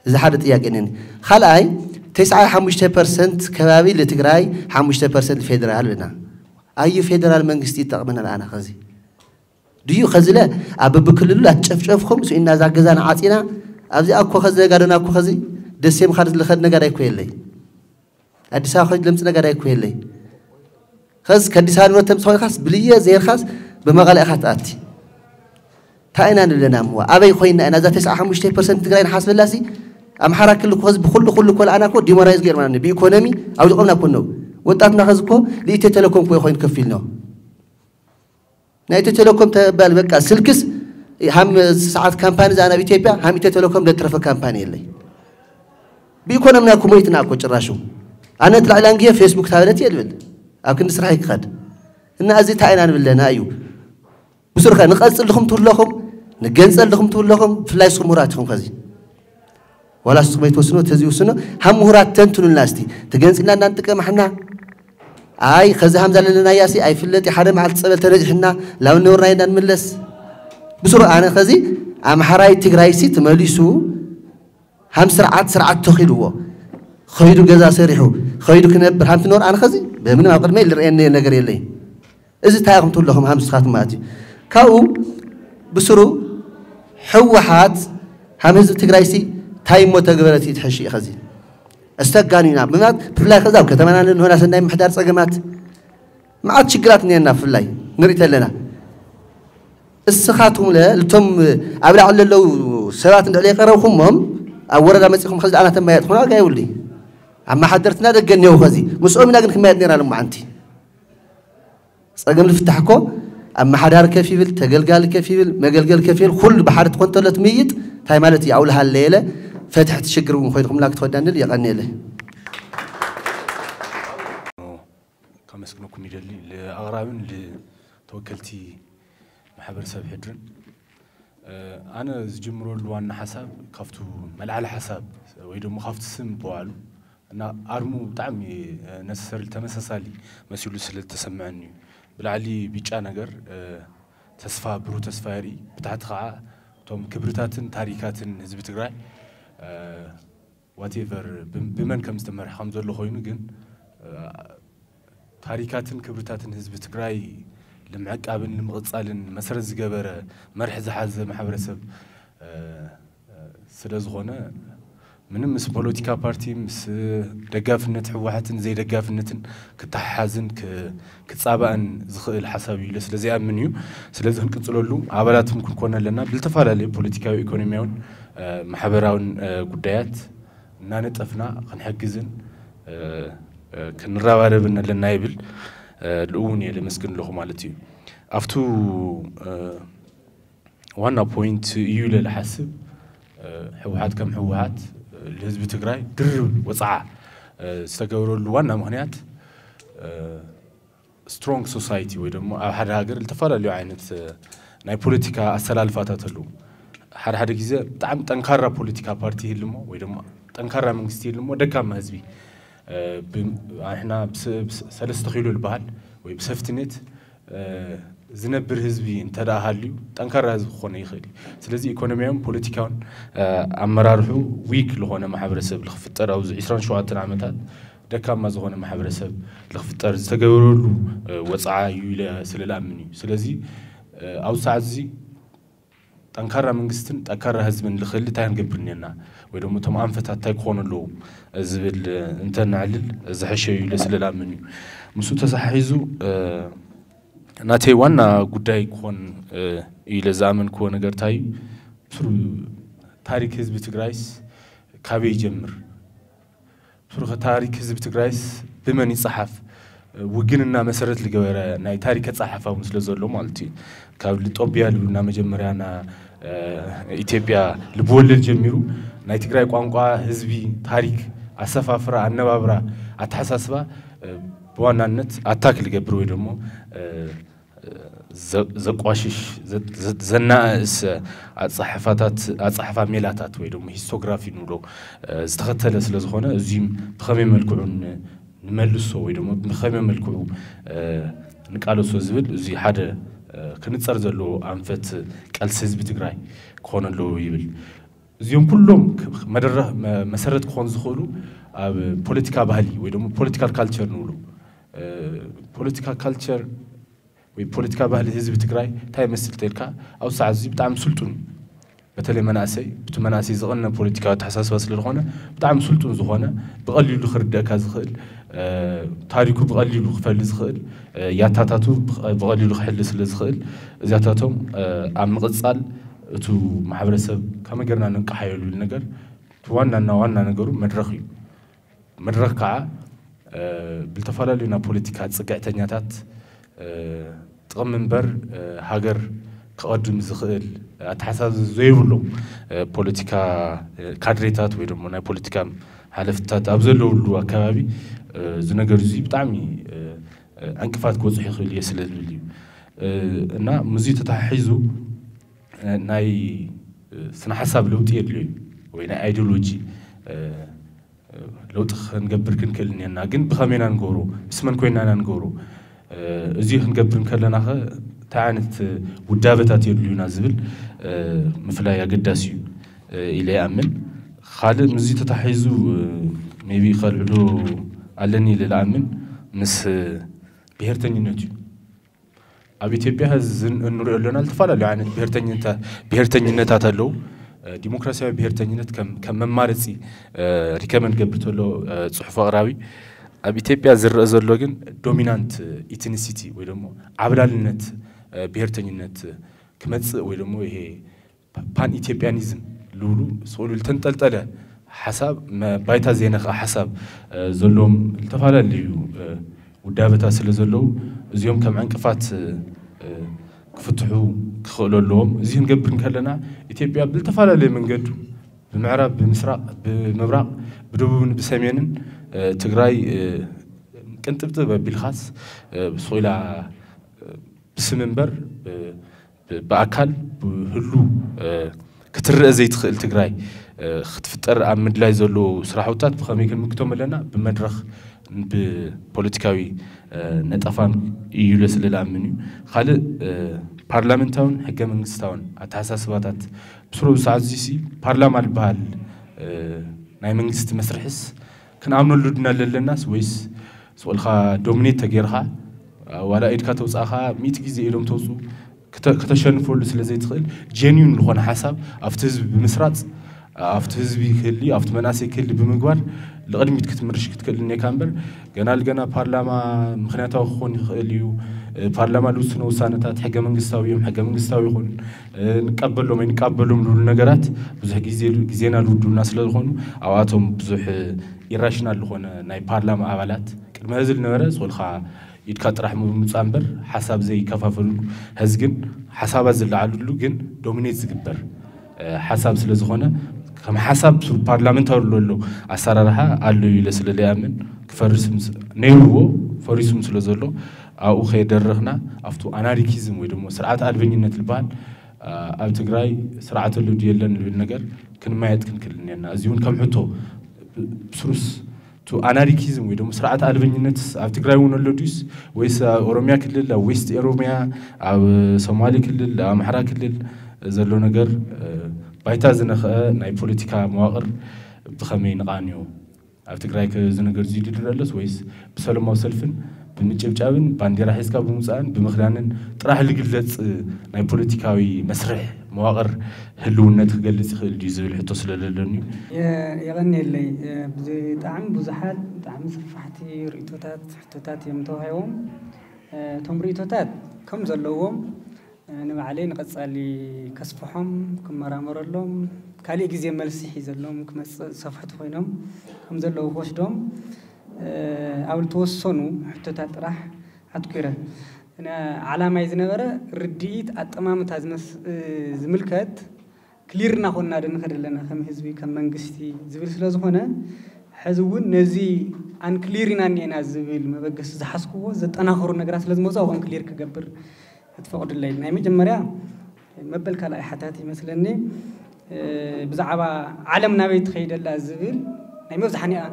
እዚ ሓደ ጥያቄ ነኒ። ካልኣይ፣ ተስዓ ሓሙሽተ ፐርሰንት ከባቢ ልትግራይ ሓሙሽተ ፐርሰንት ፌደራል ኣለና። ኣዩ ፌደራል መንግስቲ ይጠቕመና ለኣና ከዚ ድዩ ከዚለ ኣብ በብክልሉ ኣትጨፍጨፍኩም ስኢና እዛ ገዛና ዓፂና ኣብዚኣ እኮ ከዚ ጋደና እኮ ከዚ ደሴ ምኻድ ዝልኸድ ነጋዳይ እኮ የለይ። ኣዲስ ኣበባ ከይድ ለምፅ ነጋዳይ እኮ የለይ። ከዚ ከዲስ ኣበባ ንብረት ተምፅ ኮይንካስ ብልየ ዘይርካስ ብመቐለ ኢኻ ትኣቲ። እንታይ ኢና ንብለና እሞ ኣበይ ኮይና ኢና እዛ ተስዓ ሓሙሽተ ፐርሰንት ትግራይ ንሓስበላሲ ኣምሓራ ክልል እኮ ከዚ ብኩሉ ኩሉ እኮ ለኣና እኮ ዲሞራይዝ ገይርና ብኢኮኖሚ ኣውዲቖምና እኮ ነው። ወጣትና ከዚ እኮ ልኢትዮ ቴሌኮም እኮ ኮይኑ ከፊል ነው። ናይ ኢትዮ ቴሌኮም ተባል በቃ ስልክስ ሃም ሰዓት ካምፓኒ እዛ ናብ ኢትዮጵያ ሃም ኢትዮ ቴሌኮም ለትረፈ ካምፓኒ የለይ። ብኢኮኖምና እኮ ሞይትና እኮ ጭራሹ። ኣነ ትላዕላ እንግየ ፌስቡክ ታበለት እየ ልብል ኣብ ክንዲ ስራሕ ይክኸድ። እና እዚ እንታይ ኢና ንብለና እዩ። ብስሩ ከ ንቐጽል ድኹም ትብለኹም ንገንጸል ድኹም ትብለኹም ብፍላይ ስኹም ምሁራት ኢኹም ከዚ ዋላ ስኹም ኣይትወስኖ ተዚ ይውስኖ ሃም ምሁራት ተንትኑልና እስቲ ተገንጽልና እናንጥቀም ኣሕና ኣይ ከዚ ሃምዛ ለለናያ ሲ ኣይፍለጥ ሓደ መዓልቲ ጸበል ተነዚሕና ላው ነውርና ኢና ንምለስ ብስሩ ኣነ ከዚ ኣምሓራይ ትግራይ ሲ ትመሊሱ ሃም ስርዓት ስርዓት ተኺልዎ ኸይዱ ገዛ ሰሪሑ ኸይዱ ክነብር ሃም ትነብር ኣነ ከዚ ብምንም ኣብ ቅድመይ ዝረኣየኒ ነገር የለይ እዚ እንታይ ኢኹም ትብሉ ኣለኹም ሃም ንስኻትኩም ማለት እዩ ካብኡ ብስሩ ህወሓት ሃም ህዝቢ ትግራይ ሲ እንታይ እሞ ተግበረት እዩ ትሕሽ እዩ ከዚ ኣስተጋኒና ብምናት ብፍላይ ከዚ ኣብ ከተማና ንሆና ሰናይ ምሕዳር ጸገማት መዓት ሽግራት እኒአና ብፍላይ ንርኢ ተለና እስኻትኩም ለ ልቶም ኣብ ላዕሊ ለለዉ ሰባት እንድዕለ የቀረብኩሞም ኣብ ወረዳ መፂኹም ከዚ ኣና ተማየጥኩና ዋጋ የብሉይ ኣመሓደርትና ደገ እኒአው ከዚ ምስኦም ኢና ግን ክማየጥ ነይራ ልማዓንቲ ጸገም ልፍታሕ እኮ ኣመሓዳሪ ከፍ ይብል ተገልጋሊ ከፍ ይብል መገልገል ከፍ ይብል ኩሉ ብሓደ ትኾን ተሎ ትምይጥ እንታይ ማለት እዩ ኣውልሃለ የለ ፈትሕቲ ሽግር እውን ኮይንኩምላ ክትወዳንል የቐንየለ ከመስግነኩም ይደሊ ልኣቕራብን ልተወከልቲ ማሕበረሰብ ሕድርን ኣነ ዝጅምረሉ ዋና ሓሳብ ካብቱ መልዓሊ ሓሳብ ወይ ደሞ ካብቲ ስም በባዕሉ እና ኣርሙ ብጣዕሚ ነሰሰርሊ ተመሳሳሊ መሲሉ ስለ ዝተሰምዐኒ እዩ ብላዕሊ ቢጫ ነገር ተስፋ ብሩህ ተስፋ የርኢ ብታሕቲ ከዓ እቶም ክብርታትን ታሪካትን ህዝቢ ትግራይ whatever ብመን ከም ዝተመርሐ ከም ዘሎ ኮይኑ ግን ታሪካትን ክብርታትን ህዝቢ ትግራይ ንምዕቃብን ንምቕፃልን መሰረት ዝገበረ መርሒ ዝሓዘ ማሕበረሰብ ስለ ዝኾነ ምንም ምስ ፖለቲካ ፓርቲ፣ ምስ ደጋፍነት ህወሓትን ዘይደጋፍነትን ክተሓሓዝን ክ-፣ ክጻባእን ዝኽእል ሓሳብ እዩ ኢለ ስለ ዘይኣምን እዩ። ስለዚ ክንቅጽለሉ ኣባላትም ክንኮን ኣለና። ብዝተፈላለዩ ፖለቲካዊ፣ ኢኮኖሚያውን፣ እ፣ ማሕበራውን፣ እ፣ ጉዳያት እናነጠፍና ክንሕግዝን፣ እ፣ እ፣ ክንረባረብን ኣለና ይብል። እ፣ ልእውን እየ ለመስግን ኣለኹ ማለት እዩ። ኣብቱ፣ እ፣ ዋና ፖይንት እዩ ኢለ ዝሓስብ፣ እ፣ ህወሓት ከም ህወሓት፣ እ፣ ንህዝቢ ትግራይ ድርብ ወፅዓ፣ እ፣ ዝተገበረሉ ዋና ምኽንያት፣ እ፣ ስትሮንግ ሶሳይቲ ወይ ደግሞ ኣብ ሓደ ሃገር ዝተፈላለዩ ዓይነት፣ እ፣ ናይ ፖለቲካ ኣሰላልፋታት ኣለዉ። ሓደ ሓደ ግዜ ብጣዕሚ ጠንካራ ፖለቲካ ፓርቲ ይህልሞ ወይ ደግሞ ጠንካራ መንግስቲ ይህልሞ ደካማ ህዝቢ፣ እ፣ ብ-፣ ኣሕና ብስ-፣ ብስ-፣ ሰለስተ ኪሎ ዝበሃል ወይ ብሰፍትኔት፣ እ፣ ዝነብር ህዝቢ እንተ ደኣ ሃልዩ፣ ጠንካራ ህዝቢ ክኾነ ይኽእል እዩ። ስለዚ ኢኮኖሚያውን ፖለቲካውን፣ እ፣ ኣመራርሑ ዊክ ዝኾነ ማሕበረሰብ ልኽፍጠር ኣብዚ ዕስራን ሸውዓተን ዓመታት ደካማ ዝኾነ ማሕበረሰብ ልኽፍጠር ዝተገበረሉ፣ እ፣ ወፅዓ እዩ ኢለ ስለ ልኣምን እዩ። ስለዚ፣ እ፣ ኣብዚ ሰዓት እዚ ጠንካራ መንግስትን ጠንካራ ህዝብን ልኽእል እንታይ ክንገብር እኒአና? ወይ ደግሞ እቶም ኣንፈታት እንታይ ክኾኑ ኣለዎም ዝብል እንተነዕልል ዝሐሸ እዩ ኢለ ስለ ልኣምን እዩ። ምስኡ ተሰሓሒዙ፣ እ፣ ናተይ ዋና ጉዳይ ክኾን፣ እ፣ ኢለ ዝኣመንክዎ ነገር እንታይ እዩ? ብስሩ ታሪክ ህዝቢ ትግራይስ ካበይ ይጀምር? ብስሩ ከ ታሪክ ህዝቢ ትግራይስ ብመን ይጸሓፍ? ውግንና መሰረት ዝገበረ ናይ ታሪክ ኣጸሓሕፋ እውን ስለ ዘሎ ማለት እዩ። ካብ ጦቢያ ልብሉና መጀመርያ ና፣ እ፣ ኢትዮጵያ ልብወለድ ጀሚሩ ናይ ትግራይ ቋንቋ፣ ህዝቢ፣ ታሪክ፣ ኣሰፋፍራ፣ ኣነባብራ፣ ኣተሓሳስባ፣ እ፣ ብዋናነት ኣታክ ልገብር ወይ ደሞ፣ እ፣ ዘ-፣ ዘቋሽሽ፣ ዘ-፣ ዘ-፣ ዘናእስ ኣጻሕፋታት፣ ኣጻሕፋ ሜላታት ወይ ደሞ ሂስቶግራፊ ንብሎ፣ እ፣ ዝተኸተለ ስለ ዝኾነ፣ እዚም ብኸመይ መልክዑ ን-፣ ንመልሶ ወይ ደሞ ብኸመይ መልክዑ፣ እ፣ ንቃለሶ ዝብል፣ እዚ ሓደ፣ እ፣ ክንጸር ዘለዎ ኣንፈት ቃልሲ ህዝቢ ትግራይ ክኾን ኣለዎ ይብል። እዚኦም ኩሎም ክ-፣ መደረ-፣ መ-፣ መሰረት ክኾኑ ዝኽእሉ ኣብ ፖለቲካ ባህሊ ወይ ደሞ ፖለቲካል ካልቸር ንብሎ፣ እ፣ ፖለቲካ ካልቸር ወይ ፖለቲካ ባህሊ ህዝቢ ትግራይ እንታይ ይመስል ተልካ፣ ኣብ ሰዓት እዚ ብጣዕሚ ስልጡን እዩ። በተለይ መናእሰይ፣ ብቲ መናእሰይ ዝቐነ ፖለቲካዊ ኣተሓሳስባ ስለ ዝኾነ፣ ብጣዕሚ ስልጡን ዝኾነ፣ ብቐሊሉ ክርደእካ ዝኽእል፣ እ፣ ታሪኩ ብቐሊሉ ክፈሊ ዝኽእል፣ እ፣ ያታታቱ ብቐ-፣ ብቐሊሉ ክሕሊ ስለ ዝኽእል፣ እዚኣታቶም፣ እ፣ ኣብ ምቕጻል እቱ ማሕበረሰብ ከመይ ጌርና ነንቀሓዮ ዝብል ነገር፣ እቲ ዋናና ዋና ነገሩ መድረኽ እዩ። መድረኽ ከዓ፣ እ፣ ብልተፈላለዩ ናይ ፖለቲካ ጽግዕተኛታት፣ እ፣ ጥቕሚ እምበር፣ እ፣ ሃገር ክቐድም ዝኽእል ኣተሓሳስባ ዘይብሎም፣ እ፣ ፖለቲካ፣ እ፣ ካድሬታት ወይ ደሞ ናይ ፖለቲካ ሓለፍትታት ኣብ ዘለውሉ ኣከባቢ፣ እ፣ እዚ ነገር እዚ ብጣዕሚ፣ እ፣ እ፣ ዕንቅፋት ክበፅሕ ይኽእል እየ ስለ ዝብል እዩ። እ፣ እና ምስዚ ተተሓሒዙ፣ እ፣ ናይ፣ እ፣ ስነ ሓሳብ ለውጢ የድልዮ እዩ ወይ ናይ ኣይዲዮሎጂ፣ እ፣ ለውጢ ክንገብር ክንክእል እኒአና፣ ግን ብኸመይ ኢና ንገብሮ? ምስ መን ኮይና ኢና ንገብሮ? እ፣ እዚ ክንገብር እንከለና ኸ እንታይ ዓይነት ውዳበታት የድልዩና ዝብል፣ እ፣ ምፍላይ ኣገዳሲ እዩ፣ እ፣ ኢለ ይኣምን። ካልእ ምስዚ ተታሒዙ፣ እ፣ ሜቢ ከልዕሎ ኣለኒ ኢለ ልኣምን ምስ ብሄርተኝነት እዩ። ኣብ ኢትዮጵያ እዚ እንሪኦ ኣለና ዝተፈላለዩ ዓይነት ብሄርተኝነታ-፣ ብሄርተኝነታት ኣለዉ። እ፣ ዲሞክራሲያዊ ብሄርተኝነት ከም፣ ከም መማረፂ፣ እ፣ ሪከመንድ ገብር ተሎ፣ እ፣ ፅሑፍ ኣቕራቢ። ኣብ ኢትዮጵያ ዝረአ ዘሎ ግን ዶሚናንት ኢትኒሲቲ ወይ ደሞ ዓብላልነት፣ እ፣ ብሄርተኝነት ክመፅእ ወይ ደሞ ይሄ ፓን ኢትዮጵያኒዝም ልብሉ ስእሉ ዝተንጠልጠለ ሓሳብ፣ መ-፣ ባይታ ዘይነኽእ ሓሳብ፣ እ፣ ዘለዎም ዝተፈላለዩ፣ እ፣ ውዳበታት ስለ ዘለዉ፣ እዚኦም ከም ዕንቅፋት፣ እ፣ ክፍትሑ ክኽእሉ ኣለዎም። እዚ ክንገብር እንከለና፣ ኢትዮጵያ ብዝተፈላለየ መንገዱ፣ ብምዕራብ፣ ብምስራቕ፣ ብምብራቕ፣ ብደቡብን ብሰሜንን፣ እ፣ ትግራይ፣ እ፣ ቅንጥብጥብ ኣቢልካስ፣ እ፣ ስቕ ኢላ፣ እ፣ ብስም እምበር፣ እ፣ ብ-፣ ብኣካል ብህሉ፣ እ፣ ክትረአ ዘይትኽእል ትግራይ፣ እ፣ ክትፍጠር ኣብ ምድላይ ዘለዉ ስራሕውታት ብኸመይ ክንምክቶም ኣለና? ብመድረኽ፣ ብፖለቲካዊ፣ እ፣ ነጠፋን እዩ ኢለ ስለ ልኣምን እዩ። ካልእ፣ እ፣ ፓርላመንታውን ሕገ መንግስታውን ኣተሓሳስባታት ብስሩ ብሰዓት እዚሲ ፓርላማ ዝበሃል፣ እ፣ ናይ መንግስቲ መስርሕስ ክንኣምነሉ ድና ለለናስ ወይስ ስቕ ኢልካ ዶሚኔት ተጌርካ፣ ዋላ ኢድካ ተውፃእካ ሚእቲ ግዜ ኢዶም ተውፅኡ ክተ-፣ ከተሸንፈሉ ስለ ዘይትኽእል፣ ጀኒዩን ዝኾነ ሓሳብ ኣብቲ ህዝቢ ብምስራፅ ኣብቲ ህዝቢ ክህሊ ኣብቲ መናእሰይ ክህሊ ብምግባር ንቕድሚት ክትምርሽ ክትክእል እኒካ እምበር ገና ልገና ፓርላማ ምክንያታዊ ክኾን ይኽእል እዩ። ፓርላማ ዝውስኖ ውሳነታት ሕገ መንግስታዊ እዮም፣ ሕገ መንግስታዊ ይኹን ንቀበሎም ኣይንቀበሎም ዝብሉ ነገራት ብዙሕ ግዜ ግዜና ዝውድሉና ስለ ዝኾኑ ኣብኣቶም ብዙሕ ኢራሽናል ዝኾነ ናይ ፓርላማ ኣባላት ቅድሚ ሕዚ ዝነበረ ዝኮልካ ኢድካ ጥራሕ ምምፃእ እምበር ሓሳብ ዘይከፋፈልሉ፣ ሕዚ ግን ሓሳባት ዝለዓልሉ ግን ዶሚኔት ዝግበር ሓሳብ ስለ ዝኾነ ከም ሓሳብ ፓርላመንታሪ ዘሎ ኣሰራርሓ ኣሎ ኢለ ስለ ዘይኣምን ክፈርስ ነይርዎ ፈሪሱም ስለ ዘሎ ኣብኡ ከየደረኽና ኣብቲ ኣናሪኪዝም ወይ ደግሞ ስርዓት ኣልበኝነት ዝበሃል ኣብ ትግራይ ስርዓት ኣሎ ድዩ የለን ዝብል ነገር ክንማየጥ ክንክእል እኒአና። እዚ እውን ከም ሕቶ ስሩስ ቱ ኣናሪኪዝም ወይ ደግሞ ስርዓት ኣልበኝነት ኣብ ትግራይ እውን ኣሎ ድዩስ ወይስ ኣብ ኦሮሚያ ክልል ኣብ ዌስት ኦሮሚያ ኣብ ሶማሌ ክልል ኣብ ኣምሓራ ክልል ዘሎ ነገር ባይታ ዝነኸአ ናይ ፖለቲካ መዋቕር ብኸመይ ንቓንዮ? ኣብ ትግራይ ከ እዚ ነገር እዚ ድድር ኣሎስ ወይስ ብሰለማዊ ሰልፍን ብምጭብጫብን ባንዴራ ሒዝካ ብምውፃእን ብምኽዳንን ጥራሕ ዝግለፅ ናይ ፖለቲካዊ መስርሕ መዋቕር ህልውነት ክገልፅ ይኽእል ድዩ ዝብል ሕቶ ስለለለኒ። የቐንየለይ። ብጣዕሚ ብዙሓት ብጣዕሚ ሰፋሕቲ ርእቶታት ሕቶታት እዮም ተዋሂቦም። እቶም ርእቶታት ከም ዘለዎም ንባዕለይ ንቐፃሊ ከስፍሖም ክመራመረሎም ካሊእ ግዜ መልሲ ሒዘሎም ክመፅእ ዝሰፍሕቲ ኮይኖም ከም ዘለዉ ክወስዶም ኣብ ዝተወሰኑ ሕቶታት ጥራሕ ኣትኩረ። ዓላማይ ዝነበረ ርድኢት ኣጠማምታ ዝምልከት ክሊር እናኾንና ዶ ንኸድ ኣለና ከም ህዝቢ ከም መንግስቲ ዝብል ስለ ዝኾነ ሕዚ እውን ነዚ ኣንክሊር ኢና እኒአና ዝብል መበገሲ ዝሓዝክዎ ዘጠናኽሩ ነገራት ስለ ዝመፁ ኣብኦም ክሊር ክገብር ክትፈቕዱለይ። ናይ መጀመርያ መበል ካልኣይ ሓታት ይመስለኒ ብዛዕባ ዓለም ናበይ ትኸይደላ ዝብል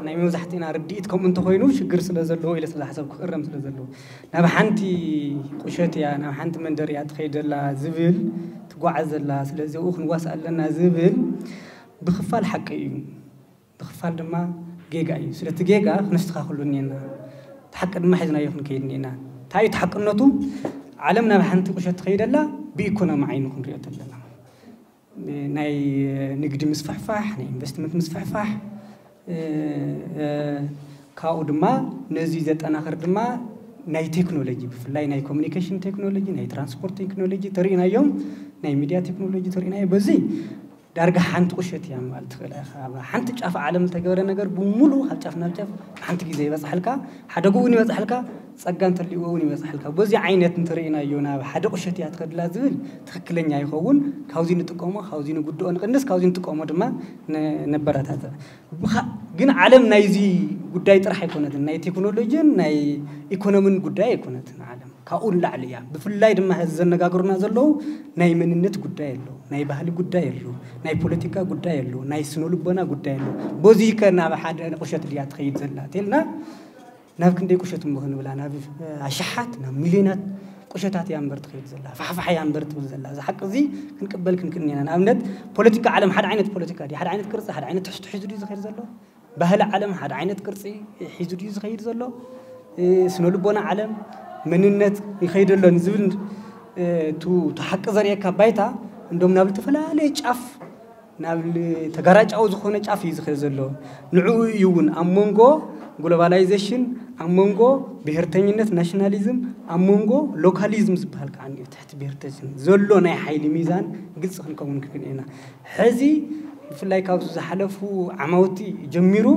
ናይ መብዛሕትእና ርድኢት ከምኡ እንተኮይኑ ሽግር ስለ ዘለዎ ኢለ ስለ ዝሓሰብ ክእረም ስለ ዘለዎ ናብ ሓንቲ ቁሸት እያ ናብ ሓንቲ መንደር እያ ትኸይደላ ዝብል ትጓዓዝ ዘላ ስለዚ ኣብኡ ክንዋስ ኣለና ዝብል ብክፋል ሓቂ እዩ ብክፋል ድማ ጌጋ እዩ ስለቲ ጌጋ ክነስተኻክሉ እኒና እቲ ሓቂ ድማ ሒዝናዮ ክንከይድ እኒና እንታይ እዩ ተሓቅነቱ ዓለም ናብ ሓንቲ ቁሸት ትኸይደላ ብኢኮኖሚ ዓይኑ ክንሪኦ ተለና ናይ ንግዲ ምስፍሕፋሕ ናይ ኢንቨስትመንት ምስፍሕፋሕ ካብኡ ድማ ነዚ ዘጠናኽር ድማ ናይ ቴክኖሎጂ ብፍላይ ናይ ኮሚኒኬሽን ቴክኖሎጂ ናይ ትራንስፖርት ቴክኖሎጂ ተርእናዮም ናይ ሚድያ ቴክኖሎጂ ተርእናዮ በዚ ዳርጋ ሓንቲ ቁሸት እያ ምባል ትኽእል ኢኻ ሓንቲ ጫፍ ዓለም ዝተገበረ ነገር ብሙሉ ካብ ጫፍ ናብ ጫፍ ሓንቲ ግዜ ይበፅሓልካ ሓደጉ እውን ይበፅሓልካ ጸጋ እንተልዎ እውን ይበፅሓልካ በዚ ዓይነት እንተርእናዮ ናብ ሓደ ቁሸት እያ ትኸድላ ዝብል ትኽክለኛ ይኸውን ካብዚ ንጥቀሞ ካብዚ ንጉድኦ ንቕንስ ካብዚ ንጥቀሞ ድማ ነበረታትዕ ግን ዓለም ናይዚ ጉዳይ ጥራሕ ኣይኮነትን ናይ ቴክኖሎጂን ናይ ኢኮኖሚን ጉዳይ ኣይኮነትን ዓለም ካብኡ ንላዕሊ እያ ብፍላይ ድማ ሕዚ ዘነጋግሩና ዘለዉ ናይ መንነት ጉዳይ ኣሎ ናይ ባህሊ ጉዳይ ኣሎ ናይ ፖለቲካ ጉዳይ ኣሎ ናይ ስነ ልቦና ጉዳይ ኣሎ በዚ ከ ናብ ሓደ ቁሸት ድያ ትኸይድ ዘላ ተልና ናብ ክንደይ ቁሸት እሞ ክንብላ ናብ ኣሽሓት ናብ ሚልዮናት ቁሸታት እያ እምበር ትኸይድ ዘላ ፋሕፋሕ እያ እምበር ትብል ዘላ እዚ ሓቂ እዚ ክንቅበል ክንክእል ኢና ንኣብነት ፖለቲካ ዓለም ሓደ ዓይነት ፖለቲካ ድዩ ሓደ ዓይነት ቅርፂ ሓደ ዓይነት ትሕዝቶ ሒዙ ድዩ ዝኸይድ ዘሎ ባህሊ ዓለም ሓደ ዓይነት ቅርፂ ሒዙ ድዩ ዝኸይድ ዘሎ ስነ ልቦና ዓለም መንነት ይኸይደሎን ዝብል እቲ ሓቂ ዘርእየካ ባይታ እንዶም ናብ ዝተፈላለየ ጫፍ ናብ ተጋራጫዊ ዝኾነ ጫፍ እዩ ዝኸይድ ዘሎ ንዕኡ እዩ እውን ኣብ መንጎ ግሎባላይዜሽን ኣብ መንጎ ብሄርተኝነት ናሽናሊዝም ኣብ መንጎ ሎካሊዝም ዝበሃል ከዓ ትሕቲ ብሄርተኝነት ዘሎ ናይ ሓይሊ ሚዛን ግልፂ ክንከውን ክንክእል ኢና ሕዚ ብፍላይ ካብዚ ዝሓለፉ ዓማውቲ ጀሚሩ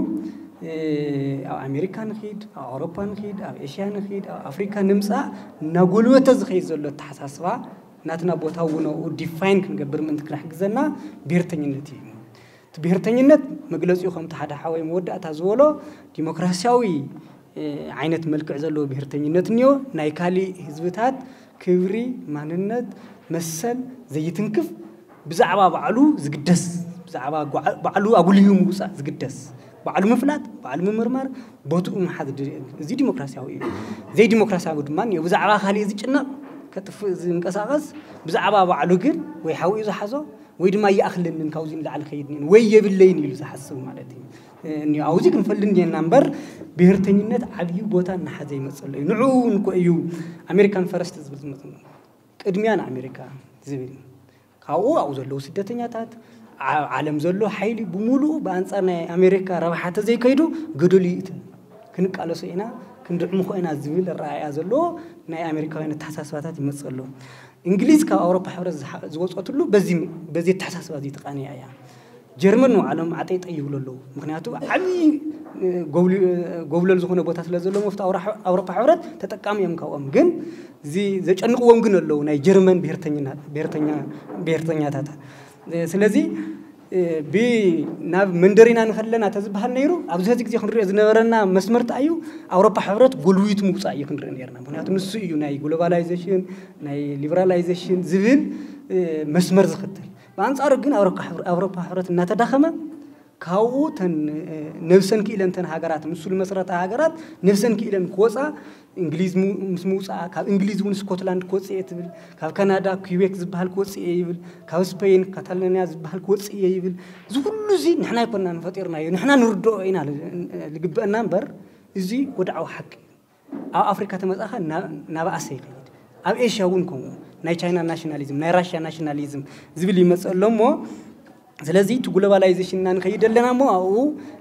ኣብ ኣሜሪካ ንኺድ ኣብ ኣውሮፓ ንኺድ ኣብ ኤሽያ ንኺድ ኣብ ኣፍሪካ ንምፃእ እናጎልበተ ዝኸይድ ዘሎ ኣተሓሳስባ ናትና ቦታ እውን ኣብኡ ዲፋይን ክንገብር ምእንቲ ክሕግዘና ብሄርተኝነት እዩ እቲ ብሄርተኝነት መግለፂኡ ከምቲ ሓደ ሓወይ መወዳእታ ዝበሎ ዲሞክራሲያዊ ዓይነት መልክዕ ዘለዎ ብሄርተኝነት እኒኦ ናይ ካሊእ ህዝብታት ክብሪ ማንነት መሰል ዘይትንክፍ ብዛዕባ ባዕሉ ዝግደስ ብዛዕባ ባዕሉ ኣጉልዩ ምውፃእ ዝግደስ ባዕሉ ምፍላጥ ባዕሉ ምምርማር ቦትኡ ምሓዝ እዚ ዲሞክራሲያዊ እዩ ዘይዲሞክራሲያዊ ድማ እኒኦ ብዛዕባ ካሊእ ዝጭነቕ ከጥፍእ ዝንቀሳቐስ ብዛዕባ ባዕሉ ግን ወይ ሓዊኡ ዝሓዞ ወይ ድማ ይኣኽለንን ካብዚ ንላዕሊ ከይድንን ወይ የብለይን ኢሉ ዝሓስብ ማለት እዩ እኒ ኣብዚ ክንፈልጥ እንዲና እምበር ብሄርተኝነት ዓብዪ ቦታ እናሓዘ ይመፀሎ እዩ ንዕኡ እውን እኮ እዩ ኣሜሪካን ፈረስት ዝብል ዝመፅ ቅድሚያ ንኣሜሪካ ዝብል ካብኡ ኣብኡ ዘለዉ ስደተኛታት ዓለም ዘሎ ሓይሊ ብምሉኡ ብኣንፃር ናይ ኣሜሪካ ረብሓ ተዘይከይዱ ገደሉ ይእተ፣ ክንቃለሶ ኢና፣ ክንድዕምኾ ኢና ዝብል ኣረኣእያ ዘለዎ ናይ ኣሜሪካውያን ኣተሓሳስባታት ይመፅእ ኣሎ። እንግሊዝ ካብ ኣውሮፓ ሕብረት ዝወፀትሉ በዚ ኣተሓሳስባ እዚ ተቃንያ እያ። ጀርመን ንባዕሎም ዓጠይጠይ ይብሉ ኣለዉ። ምክንያቱ ዓብዪ ጎብለል ዝኾነ ቦታ ስለ ዘሎ መፍት ኣውሮፓ ሕብረት ተጠቃሚ እዮም ካብኦም። ግን እዚ ዘጨንቅዎም ግን ኣለዉ ናይ ጀርመን ብሄርተኛታት። ስለዚ ናብ መንደሪና ንኸለና ተዝበሃል ነይሩ ኣብዚ ሕዚ ግዜ ክንሪኦ ዝነበረና መስመርታ እዩ። ኣውሮፓ ሕብረት ጎልዊቱ ምውፃእ እዩ ክንርኢ ነርና። ምክንያቱ ንሱ እዩ ናይ ግሎባላይዜሽን ናይ ሊበራላይዜሽን ዝብል መስመር ዝኽተል። ብኣንፃሩ ግን ኣውሮፓ ሕብረት እናተዳኸመ ካብኡ ተን ነብሰን ክኢለን ተን ሃገራት ምስሉ መሰረታ ሃገራት ነብሰን ክኢለን ክወፃ እንግሊዝ ምስ ምውፃኣ ካብ እንግሊዝ እውን ስኮትላንድ ክወፅእ እየ ትብል። ካብ ካናዳ ኩቤክ ዝበሃል ክወፅእ እየ ይብል። ካብ ስፔን ካታሎኒያ ዝበሃል ክወፅእ እየ ይብል። እዚ ኩሉ እዚ ንሕና ኣይኮናን ፈጢርናዮ፣ ንሕና ንርድኦ ኢና ዝግበአና እምበር እዚ ወድዓዊ ሓቂ እዩ። ኣብ ኣፍሪካ ተመፃኻ ናብኣሰ ይኸይድ። ኣብ ኤሽያ እውን ከምኡ ናይ ቻይና ናሽናሊዝም ናይ ራሽያ ናሽናሊዝም ዝብል ይመፅእ ኣሎ እሞ ስለዚ እቲ ግሎባላይዜሽንና ንኸይድ ኣለና እሞ ኣብኡ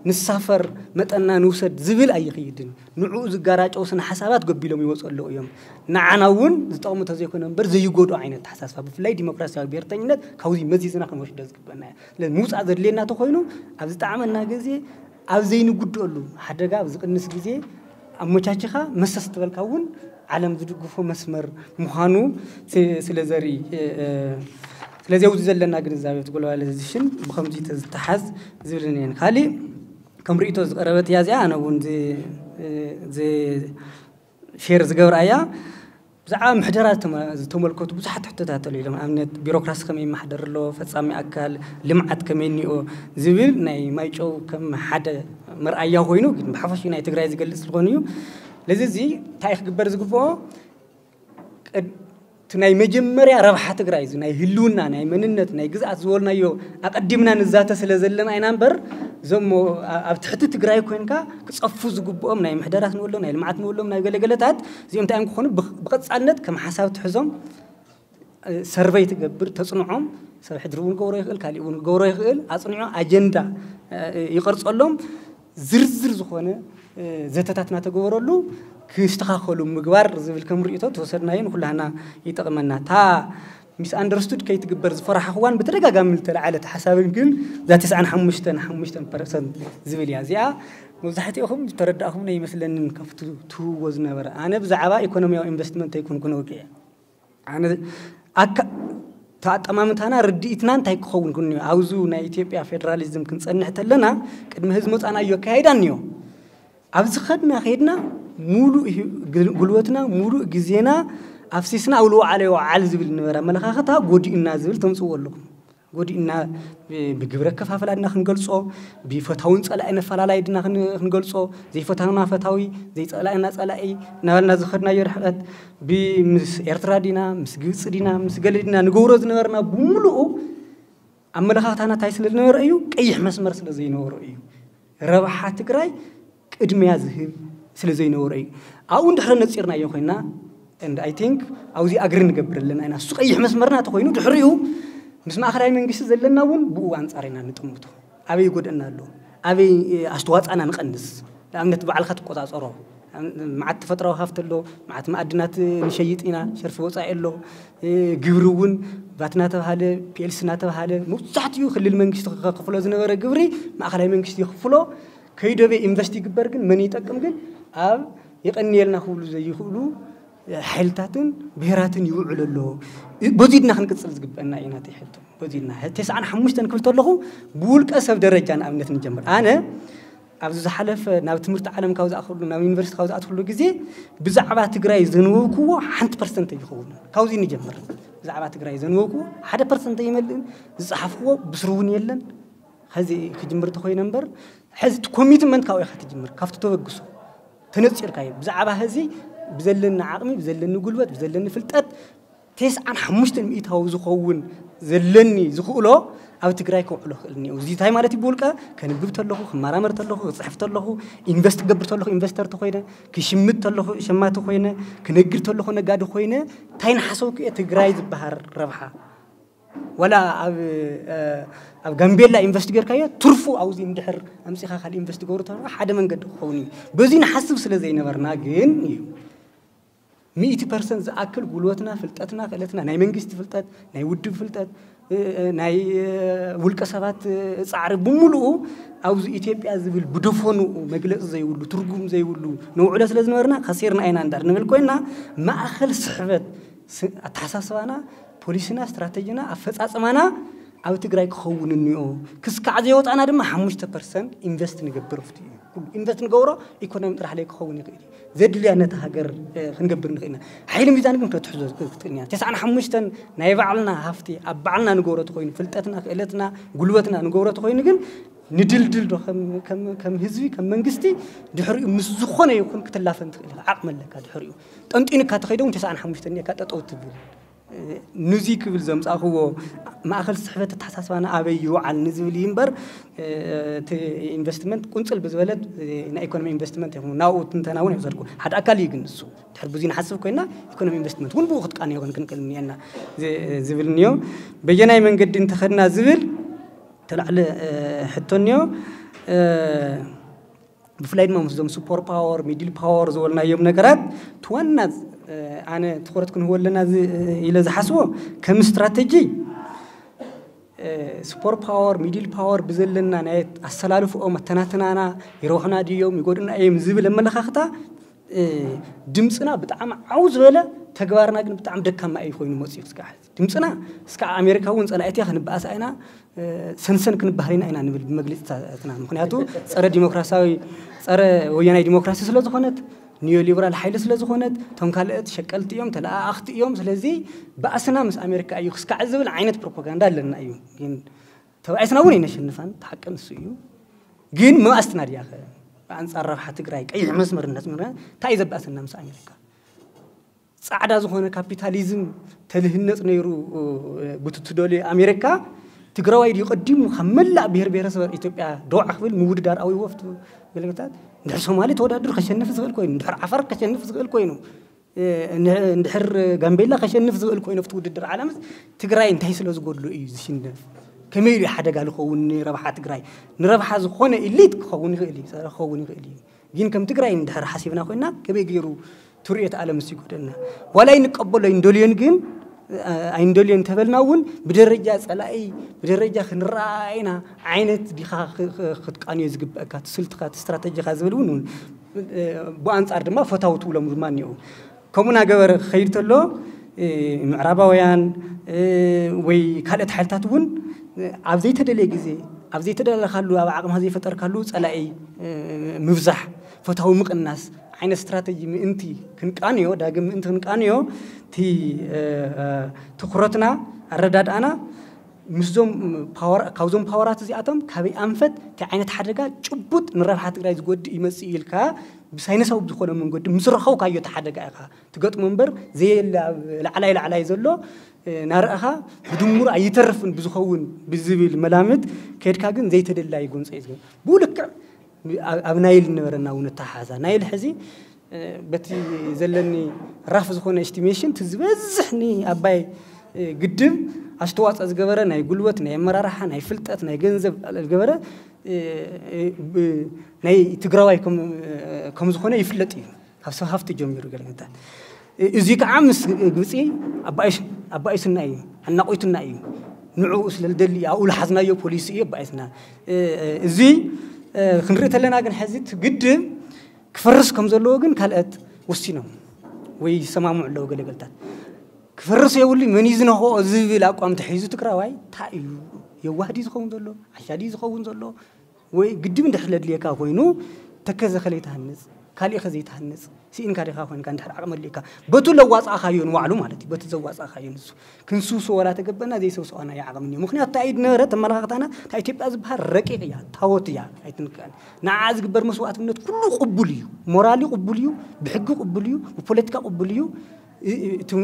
ንሳፈር መጠንና ንውሰድ ዝብል ኣይኸይድን። ንዕኡ ዝጋራጨው ስነ ሓሳባት ገቢሎም ይወፁ ኣለዉ እዮም። ንዓና እውን ዝጠቕሙ ተዘይኮነ እምበር ዘይጎድኦ ዓይነት ተሓሳስባ ብፍላይ ዲሞክራሲያዊ ብሄርተኝነት ካብዚ መዚዝና ክንወስዶ ዝግበና እያ። ስለዚ ምውፃእ ዘድልየና ተኮይኑ ኣብ ዝጠዓመና ግዜ ኣብ ዘይንጉድኣሉ ሓደጋ ኣብ ዝቕንስ ግዜ ኣመቻችኻ መሰስ ትበልካ እውን ዓለም ዝድግፎ መስመር ምዃኑ ስለ ዘርኢ ስለዚ ኣብዚ ዘለና ግንዛቤ እቲ ግሎባላይዜሽን ብከምዚ ተዝተሓዝ ዝብልን እየን። ካሊእ ከም ርእቶ ዝቀረበት እያ እዚኣ ኣነ እውን ሼር ዝገብራ እያ። ብዛዕባ ምሕደራ ዝተመልከቱ ብዙሓት ሕቶታት ኣሎ ኢሎም ኣብነት ቢሮክራሲ ከመይ ይመሓደር ኣሎ ፈፃሚ ኣካል ልምዓት ከመይ እኒኦ ዝብል ናይ ማይጨው ከም ሓደ መርኣያ ኮይኑ ግን ብሓፈሽ ናይ ትግራይ ዝገልፅ ዝኾኑ እዩ። ስለዚ እዚ እንታይ ክግበር ዝግብኦ እቲ ናይ መጀመርያ ረብሓ ትግራይ እዚ ናይ ህልውና ናይ መንነት ናይ ግዝኣት ዝበልናዮ ኣቐዲምና ንዛተ ስለ ዘለና ኢና እምበር እዞሞ ኣብ ትሕቲ ትግራይ ኮንካ ክፀፉ ዝግብኦም ናይ ምሕደራት ንብሎም ናይ ልምዓት ንብሎም ናይ ገለገለታት እዚኦም እንታይ እዮም ክኾኑ ብቐፃልነት ከም ሓሳብ ትሕዞም ሰርቨይ ትገብር ተፅንዖም ሰብ ሕድሪ እውን ክገብሮ ይኽእል ካሊእ እውን ክገብሮ ይኽእል ኣፅንዖ ኣጀንዳ ይቐርፀሎም ዝርዝር ዝኾነ ዘተታት እናተገበረሉ ክስተኻኸሉ ምግባር ዝብል ከም ርእቶ ተወሰድናዮ ንኩላህና ይጠቕመና። እታ ሚስ ኣንደርስቱድ ከይትግበር ዝፈራሕኽዋን ብተደጋጋሚ ዝተለዓለት ሓሳብን ግን እዛ ተስዓን ሓሙሽተን ሓሙሽተን ፐርሰንት ዝብል እያ። እዚኣ መብዛሕትኦኹም ዝተረዳእኹም ይመስለንን ካብቲ ትህብዎ ዝነበረ። ኣነ ብዛዕባ ኢኮኖሚያዊ ኢንቨስትመንት ኣይኮንኩን ወግዐ። ኣነ ኣካ ተኣጠማምታና ርድኢትና እንታይ ክኸውን ግን ኣብዚ ናይ ኢትዮጵያ ፌደራሊዝም ክንፀንሕ ተለና ቅድሚ ህዝቢ መፃና እዩ ኣካይዳ እኒዮ ኣብዚ ኸድና ኸድና ሙሉእ ጉልበትና ሙሉእ ግዜና ኣፍሲስና ኣብ ልወዓለ ይወዓል ዝብል ነበረ ኣመለኻኸታ ጎዲእና ዝብል ተምፅዎ ኣለኹም ጎዲእና ብግብረ ከፋፈላ ድና ክንገልፆ ብፈታውን ፀላኢ ነፈላላይ ድና ክንገልፆ ዘይፈታውና ፈታዊ ዘይፀላእና ፀላኢ እናበልና ዝኸድናዮ ርሕቀት ምስ ኤርትራ ዲና ምስ ግብፂ ዲና ምስ ገለ ዲና ንገብሮ ዝነበርና ብምሉኡ ኣመለኻኽታና እንታይ ስለ ዝነበረ እዩ ቀይሕ መስመር ስለ ዘይነበሮ እዩ ረብሓ ትግራይ ቅድሚያ ዝህብ ስለ ዘይነበሮ እዩ ኣብኡ እንድሕረ ነፂርናዮ ኮይና and I think ኣብዚ ኣግሪ ንገብር ኣለና ኢና እሱ ቀይሕ መስመርና ተኮይኑ ድሕሪኡ ምስ ማእኸላይ መንግስቲ ዘለና እውን ብኡ ኣንፃር ኢና ንጥምቶ ኣበይ ይጎደና ኣሎ ኣበይ ኣስተዋፅኣና ንቀንስ ንኣብነት ባዕልካ ትቆፃፀሮ መዓት ተፈጥራዊ ሃፍቲ ኣሎ መዓት መኣድናት ንሸይጥ ኢና ሸርፊ ወፃኢ ኣሎ ግብሪ እውን ቫት እናተባሃለ ፒኤልሲ እናተባሃለ መብዛሕትኡ ክልል መንግስቲ ከክፍሎ ዝነበረ ግብሪ ማእኸላይ መንግስቲ ይኽፍሎ ከይደበ ኢንቨስት ይግበር ግን መን ይጠቅም ግን ኣብ የቀንየልና ክብሉ ዘይኽእሉ ሓይልታትን ብሄራትን ይውዕሉ ኣለዉ። በዚ ድና ክንቅፅል ዝግበአና እዩ ናተይ ሕቶ። በዚ ድና ተስዓን ሓሙሽተን ክብል ተለኹ ብውልቀ ሰብ ደረጃ ንኣብነት ንጀምር። ኣነ ኣብዚ ዝሓለፈ ናብ ትምህርቲ ዓለም ካብ ዝኣኽሉ ናብ ዩኒቨርሲቲ ካብ ዝኣትኩሉ ግዜ ብዛዕባ ትግራይ ዘንበብክዎ ሓንቲ ፐርሰንት ይኸውን። ካብዚ ንጀምር። ብዛዕባ ትግራይ ዘንበብክዎ ሓደ ፐርሰንት ይመልእን ዝፀሓፍክዎ ብስሩ እውን የለን። ሕዚ ክጅምር ተኮይነ እምበር ሕዚ እቲ ኮሚትመንት ካብኡ ኢኻ ትጅምር ካብቲ ተበግሶ ተነፂርካ እዩ ብዛዕባ ሕዚ ብዘለኒ ዓቕሚ ብዘለኒ ጉልበት ብዘለኒ ፍልጠት ተስዓን ሓሙሽተን ሚእታዊ ዝኸውን ዘለኒ ዝኽእሎ ኣብ ትግራይ ከውዕሎ ክእል እኒኦ እዚ እንታይ ማለት እዩ ብውልቀ ከንብብ ተለኹ ክመራመር ተለኹ ክፅሕፍ ተለኹ ኢንቨስት ክገብር ተለኹ ኢንቨስተር ተኮይነ ክሽምት ተለኹ ሸማቲ ኮይነ ክነግድ ተለኹ ነጋዲ ኮይነ እንታይ ንሓሰብኩ እየ ትግራይ ዝበሃል ረብሓ ወላ ኣብ ኣብ ጋምቤላ ኢንቨስት ጌርካዮ ትርፉ ኣብዚ እንድሕር ኣምፂኻ ካልእ ኢንቨስት ገብሩ ተሎ ሓደ መንገዲ ክኸውን እዩ። በዚ ንሓስብ ስለ ዘይነበርና ግን እዩ ሚእቲ ፐርሰንት ዝኣክል ጉልበትና፣ ፍልጠትና፣ ክእለትና፣ ናይ መንግስቲ ፍልጠት፣ ናይ ውድብ ፍልጠት፣ ናይ ውልቀ ሰባት ፃዕሪ ብምሉኡ ኣብዚ ኢትዮጵያ ዝብል ብደፈንኡ መግለፂ ዘይብሉ፣ ትርጉም ዘይብሉ ነውዕሎ ስለ ዝነበርና ከሲርና ኢና እንዳር ንብል ኮይና፣ ማእኸል ስሕበት ኣተሓሳስባና፣ ፖሊሲና፣ ስትራተጂና፣ ኣፈፃፅማና ኣብ ትግራይ ክኸውን እኒኦ። ክስካዕ ዘይወፃና ድማ ሓሙሽተ ፐርሰንት ኢንቨስት ንገብር ፍቲ እዩ። ኢንቨስት ንገብሮ ኢኮኖሚ ጥራሕ ለይ ክኸውን ይኽእል እዩ። ዘድልያ ነቲ ሃገር ክንገብር ንኽእልና ሓይሊ ሚዛን ግን ክትሕዞ ክትኽእልና። ተስዓን ሓሙሽተን ናይ ባዕልና ሃፍቲ ኣብ ባዕልና ንገብሮ ተኮይኑ፣ ፍልጠትና፣ ክእለትና፣ ጉልበትና ንገብሮ ተኮይኑ ግን ንድልድል ዶ ከም ህዝቢ፣ ከም መንግስቲ ድሕሪኡ ምስ ዝኾነ ይኹን ክትላፈን ትኽእል ኢኻ። ዓቕሚ ኣለካ። ድሕሪኡ ጠንጢንካ ተኸይደ እውን ተስዓን ሓሙሽተን እኒኤካ ጠጠው ትብል። ንዚ ክብል ዘምፃእኽዎ ማእኸል ስሕበት ኣተሓሳስባና ኣበይ ይውዓል ንዝብል እዩ እምበር፣ እቲ ኢንቨስትመንት ቁንፅል ብዝበለት ናይ ኢኮኖሚ ኢንቨስትመንት ይኹን ናብኡ ትንተና እውን የውሰድኩ። ሓደ ኣካል እዩ ግን ንሱ ድሕር ብዙ ንሓስብ ኮይና ኢኮኖሚ ኢንቨስትመንት እውን ብኡ ክትቃንዮ ክንክእል እኒአና ዝብል እኒኦ። በየናይ መንገዲ እንተኸድና ዝብል ተላዕለ ሕቶ እኒኦ። ብፍላይ ድማ ምስዞም ሱፐር ፓወር፣ ሚድል ፓወር ዝበልናዮም ነገራት እቲ ዋና ኣነ ትኹረት ክንህቦ ኣለና ኢለ ዝሓስቦ ከም ስትራተጂ ሱፐር ፓወር፣ ሚድል ፓወር ብዘለና ናይ ኣሰላልፍኦም ኣተናትናና ይረብሑና ድዮም ይጎድኡና እዮም ዝብል ኣመለኻኽታ ድምፅና ብጣዕሚ ዓው ዝበለ፣ ተግባርና ግን ብጣዕሚ ደካማ እዩ ኮይኑ መፅኡ ክስካዕ ድምፅና እስካ ኣሜሪካ እውን ፀላኢት እያ ክንበኣስ ኣይና ሰንሰን ክንበሃል ኢና ኢና ንብል ብመግለፂታትና። ምክንያቱ ፀረ ዲሞክራሲያዊ፣ ፀረ ወያናይ ዲሞክራሲ ስለ ዝኾነት፣ ኒዮ ሊበራል ሓይሊ ስለ ዝኾነት፣ እቶም ካልኦት ሸቀልቲ እዮም፣ ተለኣኣኽቲ እዮም። ስለዚ ባእስና ምስ ኣሜሪካ እዩ ክስካዕ ዝብል ዓይነት ፕሮፓጋንዳ ኣለና እዩ። ግን ተባኢስና እውን ኣይነሸንፋን፣ እቲ ሓቂ ንሱ እዩ። ግን መባእስትና ድያ ከ ብኣንፃር ረብሓ ትግራይ ቀይሕ መስመር እናስመርና እንታይ እዩ ዘባእሰና ምስ ኣሜሪካ? ፃዕዳ ዝኾነ ካፒታሊዝም ተልህነፅ ነይሩ ብትትደልዩ ኣሜሪካ ትግራዋይ ድዩ ቀዲሙ ካብ መላእ ብሄር ብሄረሰብ ኢትዮጵያ ደዋዕ ክብል ምውድዳር ኣውይዎ ፍቱ ገለገታት እንድሕር ሶማሊ ተወዳድሩ ከሸንፍ ዝኽእል ኮይኑ እንድሕር ዓፋር ከሸንፍ ዝኽእል ኮይኑ እንድሕር ጋምቤላ ከሸንፍ ዝኽእል ኮይኑ ኣብቲ ውድድር ዓለምስ ትግራይ እንታይ ስለ ዝጎድሎ እዩ ዝሽነፍ? ከመይ ኢሉ ሓደጋ ዝኸውን ንረብሓ ትግራይ? ንረብሓ ዝኾነ ኢሊት ክኸውን ይኽእል እዩ፣ ክኸውን ይኽእል እዩ። ግን ከም ትግራይ እንድሕር ሓሲብና ኮይና ከመይ ገይሩ ትርእዮ እቲ ዓለም ምስ ይጎደልና ዋላ ኣይንቀበሎ ኣይንደልዮን ግን ኣይንደልዮን ተበልና እውን ብደረጃ ፀላኢ ብደረጃ ክንረኣይና ዓይነት ዲኻ ክትቃንዮ ዝግበእካ ትስልትኻ ስትራተጂኻ ዝብል እውን ብኣንፃር ድማ ፈታዊ ትብሎም ድማ እኒኦ ከምኡ እናገበረ ክኸይድ ተሎ ምዕራባውያን ወይ ካልኦት ሓይልታት እውን ኣብ ዘይተደለየ ግዜ ኣብ ዘይተደለኻሉ ኣብ ዓቕምኻ ዘይፈጠርካሉ ፀላኢ ምብዛሕ ፈታዊ ምቕናስ ዓይነት ስትራተጂ ምእንቲ ክንቃንዮ ዳግም ምእንቲ ክንቃንዮ እቲ ትኩረትና ኣረዳድኣና ምስዞም ካብዞም ፓወራት እዚኣቶም ካበይ ኣንፈት እንታይ ዓይነት ሓደጋ ጭቡጥ ንረብሓ ትግራይ ዝጎድእ ይመፅእ ኢልካ ብሳይነሳዊ ብዝኾነ መንገዲ ምስ ረኸብካዮ እቲ ሓደጋ ኢኻ ትገጥሞ እምበር ዘየለ ኣብ ላዕላይ ላዕላይ ዘሎ ናርኣኻ ብድምሩ ኣይተርፍን ብዝኸውን ብዝብል መላምት ከድካ ግን ዘይተደላይ ጎንፀ እዩ ዝገ ብኡ ልክዕ ኣብ ናይል ነበረና እውን ኣተሓሓዛ ናይል ሕዚ በቲ ዘለኒ ራፍ ዝኾነ ኤስቲሜሽን እቲ ዝበዝሕ ንኣባይ ግድብ ኣስተዋፅኦ ዝገበረ ናይ ጉልበት ናይ ኣመራርሓ ናይ ፍልጠት ናይ ገንዘብ ዝገበረ ናይ ትግራዋይ ከም ዝኾነ ይፍለጥ እዩ ካብ ሰብ ሃፍቲ ጀሚሩ ገለገታት እዚ ከዓ ምስ ግብፂ ኣባኢስና እዩ ኣናቆይትና እዩ ንዕኡ ስለዝደሊ ኣብኡ ዝሓዝናዮ ፖሊሲ እዩ ኣባኢስና እዚ ክንርኢ ተለና ግን ሕዚ ግድብ ክፈርስ ከም ዘለዎ ግን ካልኦት ወሲኖም ወይ ይሰማምዑ ኣለዉ ገለገልታት ክፈርስ የብሉ መን እዩ ዝነኽኦ ዝብል ኣቋም ተሒዙ ትግራዋይ እንታይ እዩ የዋህዲ ዝኸውን ዘሎ ዓሻዲ ዝኸውን ዘሎ ወይ ግድብ እንድሕር ለድልየካ ኮይኑ ተከዘ ከለይ ትሃንፅ ካሊእ ከ ዘይትሃንፅ ስኢንካ ዲኻ ኮይንካ እንድሕር ዓቕሚ ኣድልየካ በቱ ለዋፃእካዮ ንባዕሉ ማለት እዩ በቲ ዘዋፃእካዮ ንሱ ክንስውስዎ ዋላ ተገበና ዘይሰውስዋና ይዓቕምኒ እዩ ምክንያቱ እንታይ እዩ ዝነበረ ተመላኻኽታና እታ ኢትዮጵያ ዝበሃል ረቂቕ እያ ታወት እያ ኣይትንክአን ንዓ ዝግበር መስዋእትነት ኩሉ ቅቡል እዩ ሞራሊ ቅቡል እዩ ብሕጊ ቅቡል እዩ ብፖለቲካ ቅቡል እዩ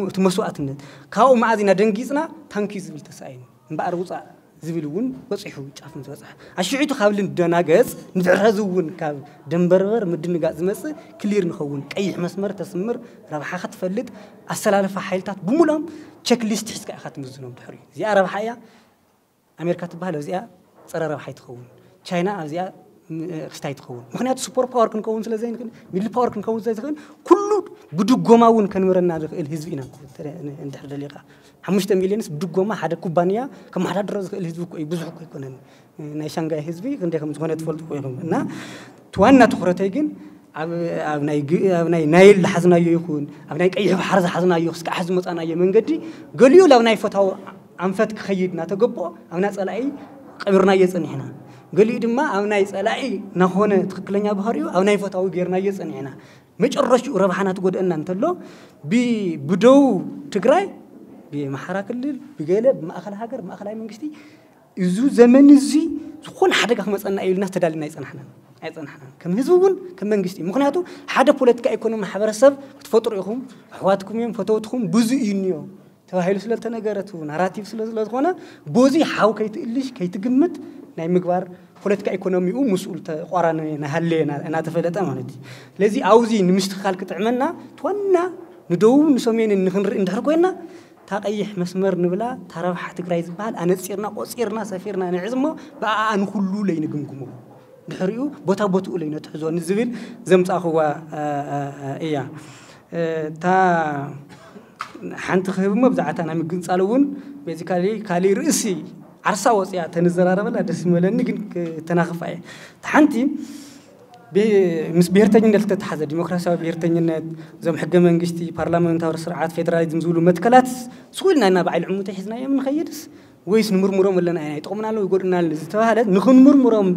እቲ መስዋእትነት ካብኡ መዓዝ ኢና ደንጊፅና ታንኪ ዝብል ተሳኢኑ እምበኣር ውፃእ ዝብል እውን በፂሑ ጫፍ ምስ በፅሐ ኣሽዒቱ ካብ ልንደናገፅ ንድሕረዚ እውን ካብ ደንበርበር ምድንጋፅ ዝመፅእ ክሊር ንኸውን ቀይሕ መስመር ተስምር ረብሓ ክትፈልጥ ኣሰላልፋ ሓይልታት ብምሎም ቸክሊስት ሒዝካ ኢኻ ትምዝኖም ድሕሪ እዚኣ ረብሓ እያ ኣሜሪካ ትበሃል ኣብዚኣ ፀረ ረብሓ ይትኸውን ቻይና ኣብዚኣ ክስታይ ትኸውን ምክንያቱ ሱፐር ፓወር ክንከውን ስለ ዘይንክእል ሚድል ፓወር ክንከውን ስለ ዝኽእል ኩሉ ብድጎማ እውን ከንብረና ዝኽእል ህዝቢ ኢና እንድሕር ደሊኻ ሓሙሽተ ሚልዮንስ ብድጎማ ሓደ ኩባንያ ከመሓዳድሮ ዝኽእል ህዝቢ እኮ እዩ ብዙሕ እኮ ኣይኮነን ናይ ሻንጋይ ህዝቢ ክንደይ ከም ዝኾነ ትፈልጡ እኮ ኢኹም እና ዋና ትኹረተይ ግን ኣብ ናይ ናይል ዝሓዝናዮ ይኹን ኣብ ናይ ቀይሕ ባሕር ዝሓዝናዮ ክስካዕ ዝመፃናዮ መንገዲ ገሊኡ ላብ ናይ ፈታዊ ኣንፈት ክኸይድ እናተገብኦ ኣብ ናይ ፀላኢ ቀቢርናዮ ፀኒሕና ገሊኡ ድማ ኣብ ናይ ፀላኢ ናኾነ ትክክለኛ ባህሪኡ ኣብ ናይ ፈታዊ ጌርናዮ ፀኒሕና መጨረሽኡ ረብሓና ትጎድአና እንተሎ ብደቡብ ትግራይ ብመሓራ ክልል ብገለ ብማእኸል ሃገር ብማእኸላይ መንግስቲ እዚ ዘመን እዚ ዝኾነ ሓደጋ ክመፀና እዩ ኢልና ተዳልና ኣይፀናሕናን ኣይፀናሕናን ከም ህዝቢ እውን ከም መንግስቲ ምክንያቱ ሓደ ፖለቲካ ኢኮኖሚ ማሕበረሰብ ክትፈጥሩ ኢኹም ኣሕዋትኩም እዮም ፈተውትኩም ብዙ እዩ እኒኦ ተባሂሉ ስለ ዝተነገረት ናራቲቭ ስለ ስለዝኾነ በዚ ሓው ከይትእልሽ ከይትግምት ናይ ምግባር ፖለቲካ ኢኮኖሚኡ ምስኡ ተቋራኒ ናሃለየ እናተፈለጠ ማለት እዩ ስለዚ ኣብዚ ንምስትክካል ክጥዕመና ትዋና ንደቡብ ንሰሜንን ንክንርኢ እንድሕር ኮይና እታ ቀይሕ መስመር ንብላ እታ ረብሓ ትግራይ ዝበሃል ኣነፂርና ቆፂርና ሰፊርና ንዕዝ እሞ ብኣኣ ንኩሉ ለይንግምግሞ ድሕሪኡ ቦታ ቦትኡ ለይነትሕዞ ንዝብል ዘምፃእኽዋ እያ እታ ሓንቲ ክህብ እሞ ብዛዕታ ናይ ምግንፃል እውን ቤዚካሊ ካሊእ ርእሲ ዓርሳ ወፅያ ተንዘራረበላ ደስ ይመለኒ ግን ተናኽፋ እየ ሓንቲ ምስ ብሄርተኝነት ዝተተሓዘ ዲሞክራሲያዊ ብሄርተኝነት እዞም ሕገ መንግስቲ ፓርላመንታዊ ስርዓት ፌደራሊዝም ዝብሉ መትከላት ስኹልና ኢና በዓል ዕሙተ ሒዝናዮም ንኸይድስ ወይስ ንምርምሮም ኣለና ኢና ይጠቕሙና ኣለዉ ይጎድኡና ኣለዉ ዝተባህለ ንኽንምርምሮም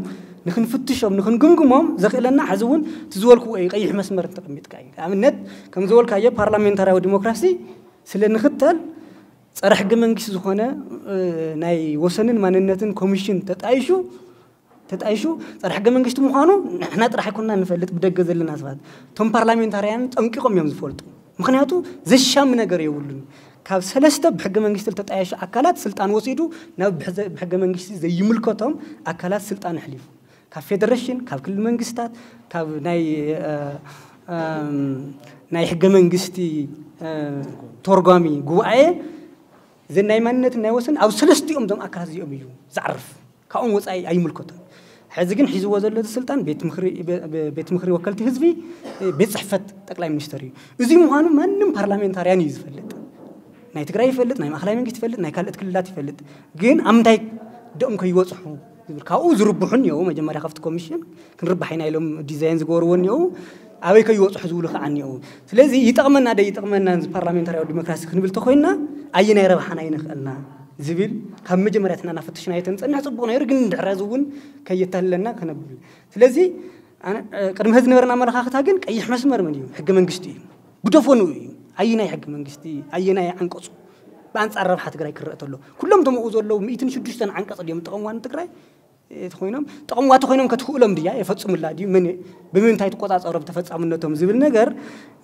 ንኽንፍትሾም ንኽንግምግሞም ዘኽእለና ሕዚ እውን እቲ ዝበልክዎ እዩ ቀይሕ መስመር እንተቐሚጥካ እዩ ኣብነት ከም ዝበልካዮ ፓርላሜንታርያዊ ዲሞክራሲ ስለ ንኽተል ጸረ ሕገ መንግስቲ ዝኾነ ናይ ወሰንን ማንነትን ኮሚሽን ተጣይሹ ተጣይሹ ጸረ ሕገ መንግስቲ ምዃኑ ንሕና ጥራሕ ኣይኮንና ንፈልጥ ብደገ ዘለና ሰባት እቶም ፓርላሜንታርያን ጠንቂቖም እዮም ዝፈልጡ ምኽንያቱ ዘሻሚ ነገር የብሉን ካብ ሰለስተ ብሕገ መንግስቲ ዝተጣየሹ ኣካላት ስልጣን ወሲዱ ናብ ብሕገ መንግስቲ ዘይምልከቶም ኣካላት ስልጣን ኣሕሊፉ ካብ ፌደሬሽን ካብ ክልል መንግስታት ካብ ናይ ናይ ሕገ መንግስቲ ተርጓሚ ጉባኤ ዘን ናይ ማንነትን ናይ ወሰን ኣብ ሰለስቲኦም ዞም ኣካላት እዚኦም እዩ ዝዓርፍ ካብኦም ወፃኢ ኣይምልከቶም ሕዚ ግን ሒዝዎ ዘሎ ስልጣን ቤት ምክሪ ወከልቲ ህዝቢ ቤት ፅሕፈት ጠቅላይ ሚኒስትር እዩ እዚ ምዃኑ ማንም ፓርላሜንታርያን እዩ ዝፈልጥ ናይ ትግራይ ይፈልጥ ናይ ማእኸላይ መንግስቲ ይፈልጥ ናይ ካልኦት ክልላት ይፈልጥ ግን ኣብ ምንታይ ደኦም ከይወፅሑ ዝብል ካብኡ ዝርብሑ እኒአው መጀመርያ ካብቲ ኮሚሽን ክንርባሕ ኢና ኢሎም ዲዛይን ዝገበርዎ እኒአው ኣበይ ከይወፅሑ ዝብሉ ከዓ እኒአው ስለዚ ይጠቕመና ደ ይጠቕመና እዚ ፓርላሜንታሪያዊ ዲሞክራሲ ክንብል ተኮይንና ኣየናይ ረብሓና ይንኽእልና ዝብል ካብ መጀመርያ ትናና ፈትሽና የተንፀንሕ ፅቡቅ ነይሩ ግን ድሕረዚ እውን ከየታልለና ከነብል ስለዚ ቅድሚ ህዚ ነበረና ኣመለኻኽታ ግን ቀይሕ መስመር መን እዩ ሕገ መንግስቲ እዩ ብደፈኑ እዩ ኣየናይ ሕገ መንግስቲ ኣየናይ ዓንቀፁ ብኣንፃር ረብሓ ትግራይ ክረአ ተሎ ኩሎም ተምኡ ዘለዉ ሚእትን ሽዱሽተን ዓንቀፅ ድዮም ጥቕምዋ ንትግራይ ተኮይኖም ጥቕምዋ ተኮይኖም ከትኽእሎም ድያ የፈፅሙላ ድዩ መን ብምንታይ ትቆፃፀሮም ተፈፃምነቶም ዝብል ነገር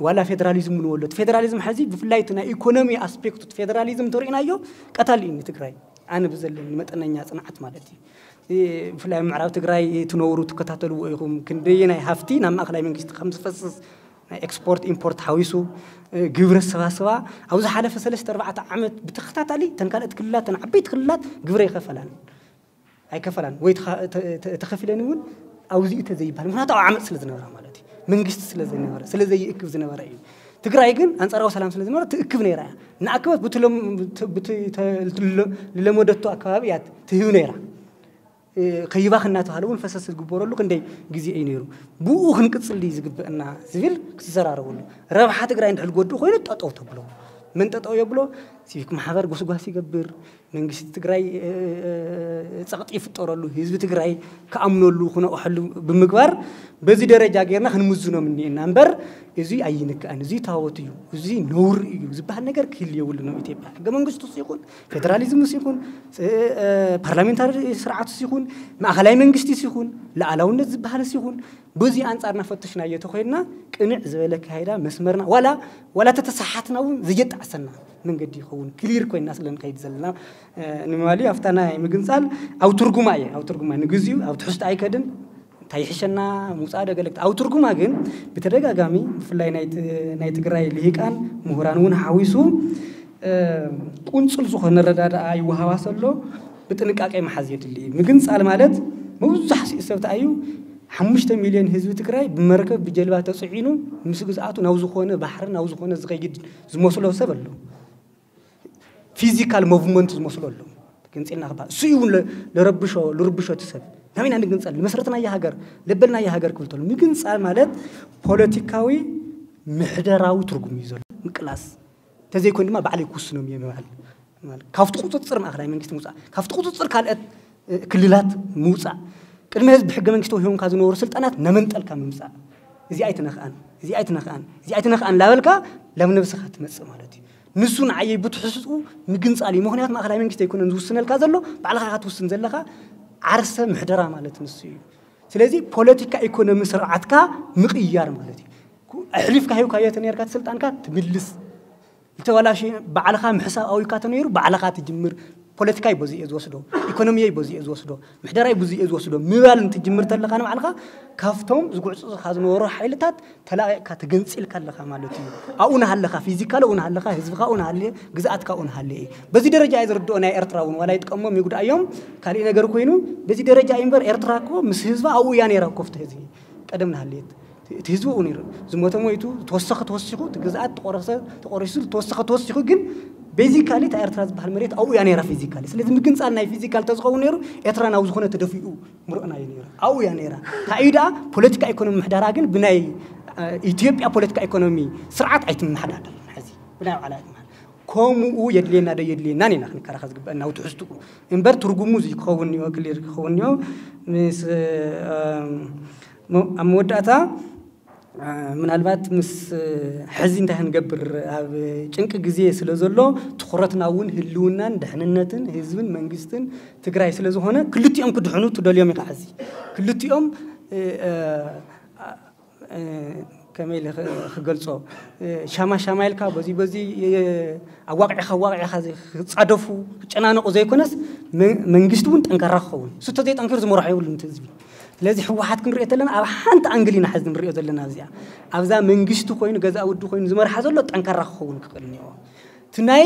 ዋላ ፌደራሊዝም እውን ወሎ ፌደራሊዝም ሕዚ ብፍላይ ናይ ኢኮኖሚ ኣስፔክቱ ፌደራሊዝም ተሪእናዮ ቀታሊ እዩ ንትግራይ ኣነ ብዘለኒ መጠነኛ ፅንዓት ማለት እዩ ብፍላይ ምዕራብ ትግራይ ትነብሩ ትከታተልዎ ኢኹም ክንደየናይ ሃፍቲ ናብ ማእኸላይ መንግስቲ ከም ዝፈስስ ናይ ኤክስፖርት ኢምፖርት ሓዊሱ ግብሪ ኣሰባስባ ኣብ ዝሓለፈ ሰለስተ ኣርባዕተ ዓመት ብተኸታታሊ ተን ካልኦት ክልላት ተን ዓበይቲ ክልላት ግብሪ ኣይከፈላን ኣይከፈላን ወይ ተኸፊለን እውን ኣውዚኡ ተዘይበሃል ምክንያቱ ኣብ ዓመፅ ስለ ዝነበራ ማለት እዩ መንግስቲ ስለ ዘይነበረ ስለ ዘይእክብ ዝነበረ እዩ ትግራይ ግን ኣንፃራዊ ሰላም ስለ ዝነበረ ትእክብ ነይራ እያ ንኣክበት ብለመደቶ ኣከባቢ እያ ትህብ ነይራ ከይባኽ እናተባሃለ እውን ፈሰስ ዝግበረሉ ክንደይ ግዜ እዩ ነይሩ ብኡ ክንቅፅል ድዩ ዝግበአና ዝብል ክትዘራረበሉ ረብሓ ትግራይ እንድሕል ጎድኡ ኮይኑ ጠጠው ተብሎ መን ጠጠው የብሎ ሲቪክ ማሕበር ጎስጓስ ይገብር መንግስቲ ትግራይ ፀቕጢ ይፍጠረሉ ህዝቢ ትግራይ ክኣምነሉ ክነቕሐሉ ብምግባር በዚ ደረጃ ጌርና ክንምዝኖም እኒኤና እምበር እዚ ኣይንክኣን እዚ ታወት እዩ እዚ ነውር እዩ ዝበሃል ነገር ክህል የብሉ ነው ኢትዮጵያ ሕገ መንግስቱ ይኹን ፌደራሊዝም ይኹን ፓርላሜንታሪ ስርዓት ይኹን ማእኸላይ መንግስቲ ይኹን ሉዓላውነት ዝበሃል ይኹን በዚ ኣንፃር እናፈተሽናዮ ተኮይንና ቅንዕ ዝበለ ኣካይዳ መስመርና ዋላ ዋላ ተተሰሓትና እውን ዘየጣዕሰና መንገዲ ይኸውን። ክሊር ኮይና ስለ ንኸይድ ዘለና ንምባል እዩ። ኣብታ ናይ ምግንፃል ኣብ ትርጉማ እየ፣ ኣብ ትርጉማ ንግዚኡ ኣብ ትሕዝቶ ኣይከድን። እንታይ ይሕሸና ምውፃእ ዶ ገለ ክት-፣ ኣብ ትርጉማ ግን ብተደጋጋሚ ብፍላይ ናይ ት-፣ ናይ ትግራይ ልሂቃን ምሁራን እውን ሓዊሱ ቁንፅል ዝኾነ ረዳድኣ ይወሃባ ዘሎ ብጥንቃቄ መሓዝ የድሊ እዩ። ምግንፃል ማለት መብዛሕትኡ ሰብ ተኣዩ ሓሙሽተ ሚልዮን ህዝቢ ትግራይ ብመርከብ ብጀልባ ተፅዒኑ ምስ ግዝኣቱ ናብ ዝኾነ ባሕሪ ናብ ዝኾነ ዝኸይድ ዝመስሎ ሰብ ኣሎ። ፊዚካል ሞቭመንት ዝመስሎ ኣሎ። ግንፂልና ክባ እሱ እዩ እውን ለ-፣ ለረብሾ፣ ልርብሾ እቲ ሰብ። ናበይና ንግንፀል? ንመስረትናያ ሃገር፣ ለበልናያ ሃገር ክብል ተሎ። ምግንፃል ማለት ፖለቲካዊ ምሕደራዊ ትርጉም እዩ ዘሎ። ምቅላስ። ተዘይኮይኑ ድማ ባዕለይ ክውስኖም እየ ምባል። ማለት ካብቲ ቁፅፅር ማእኸላይ መንግስቲ ምውፃእ፣ ካብቲ ቁፅፅር ካልኦት፣ እ፣ ክልላት ምውፃእ። ቅድሚ ህዝቢ ብሕገ መንግስቲ ወሂቦምካ ዝነበሩ ስልጣናት ነመንጠልካ ምምፃእ። እዚ ኣይትነኽኣን፣ እዚ ኣይትነኽኣን፣ እዚ ኣይትነኽኣን ላበልካ ላብ ነብስኻ ትመፅእ ማለት እዩ። ንሱ ንዓየይ ብትሕዝኡ ምግንፃል እዩ። ምኽንያቱ ማእኸላይ መንግስቲ ኣይኮነን ዝውስነልካ ዘሎ፣ ባዕልኻ ኢኻ ትውስን ዘለኻ። ዓርሰ ምሕደራ ማለት ንሱ እዩ። ስለዚ ፖለቲካ ኢኮኖሚ ስርዓትካ ምቕያር ማለት እዩ። ኩ-፣ ኣሕሊፍካ ሂብካዮ ተነርካ እቲ ስልጣንካ ትምልስ። ዝተበላሸ ባዕልኻ ምሕሳብ ኣውካ ተነይሩ ባዕልኻ ትጅምር። ፖለቲካይ በዚ እየ ዝወስዶ፣ ኢኮኖሚየይ በዚ እየ ዝወስዶ፣ ምሕደራይ በዚ እየ ዝወስዶ ምባል እንትጅምር ተለኻ ንባዕልኻ ካብቶም ዝጉዕፅኻ ዝነበሩ ሓይልታት ተላቒቕካ ተገንፂልካ ኣለኻ ማለት እዩ። ኣብኡ ናሃለኻ፣ ፊዚካሊ ኣብኡ ናሃለኻ፣ ህዝብኻ ኣብኡ ናሃለየ፣ ግዝኣትካ ኣብኡ ናሃለየ። በዚ ደረጃ እየ ዝርድኦ። ናይ ኤርትራ እውን ዋላ ይጥቀሞም ይጉድኣዮም ካልእ ነገር ኮይኑ፣ በዚ ደረጃ እዩ እምበር ኤርትራ እኮ ምስ ህዝባ ኣብኡ እያ ነይራ እኮ፣ ፍትሒ ህዝቢ ቀደም ናሃለየት። እቲ ህዝቢ ኣብኡ ነይሩ። ዝሞተ ሞይቱ፣ ዝተወሰኸ ተወሲኹ፣ እቲ ግዝኣት ተቆረሰ፣ ተቆሪሱ፣ ዝተወሰኸ ተወሲኹ፣ ግን ቤዚካሊ እታ ኤርትራ ዝበሃል መሬት ኣብኡ እያ ነይራ ፊዚካሊ። ስለዚ ምግንፃል ናይ ፊዚካል ተዝኸውን ነይሩ፣ ኤርትራ ናብ ዝኾነ ተደፊኡ ምርቕና እዩ ነይሩ። ኣብኡ እያ ነይራ። እንታይ እዩ ደኣ ፖለቲካ ኢኮኖሚ ምሕዳራ ግን ብናይ፣ እ፣ ኢትዮጵያ ፖለቲካ ኢኮኖሚ ስርዓት ኣይትመሓዳደርን። ሕዚ ብናይ ባዕላ ኣይትመሓዳደርን። ከምኡ የድልየና ዶ የድልየናን ኢና ክንከራኸር ዝግበአና፣ ኣብ ትሕዝትኡ እምበር ትርጉሙ እዚ ክኸውን እኒኦ፣ ክሊር ክኸውን እኒኦ። ምስ፣ እም፣ ሞ-፣ ኣብ መወዳእታ፣ እ፣ ምናልባት ምስ፣ እ፣ ሕዚ እንታይ ክንገብር ኣብ ጭንቂ ግዜ ስለ ዘሎ ትኹረትና እውን ህልውናን ድሕንነትን ህዝብን መንግስትን ትግራይ ስለ ዝኾነ ክልቲኦም ክድሕኑ ትደልዮም ኢኻ። ሕዚ ክልቲኦም፣ እ፣ እ፣ እ፣ ከመይ ኢለ ክ-፣ ክገልጾ፣ እ፣ ሻማ ሻማ ኢልካ በዚ በዚ፣ እ፣ ኣዋቂዕካ ኣዋቂዕካ ዘ-፣ ክጻደፉ ክጨናነቑ ዘይኮነስ መ-፣ መንግስቲ እውን ጠንካራ ክኸውን፣ እሱ ተዘይጠንኪሩ ዝመርሖ የብሉን እቲ ህዝቢ። ስለዚ ህወሓት ክንሪኦ ተለና ኣብ ሓንቲ ኣንግል ኢና ሕዚ ንሪኦ ዘለና። ኣብዚኣ ኣብዛ መንግስቲ ኮይኑ ገዛ ውዲ ኮይኑ ዝመርሓ ዘሎ ጠንካራ ክኸውን ክኽእል እኒኦ። እቲ ናይ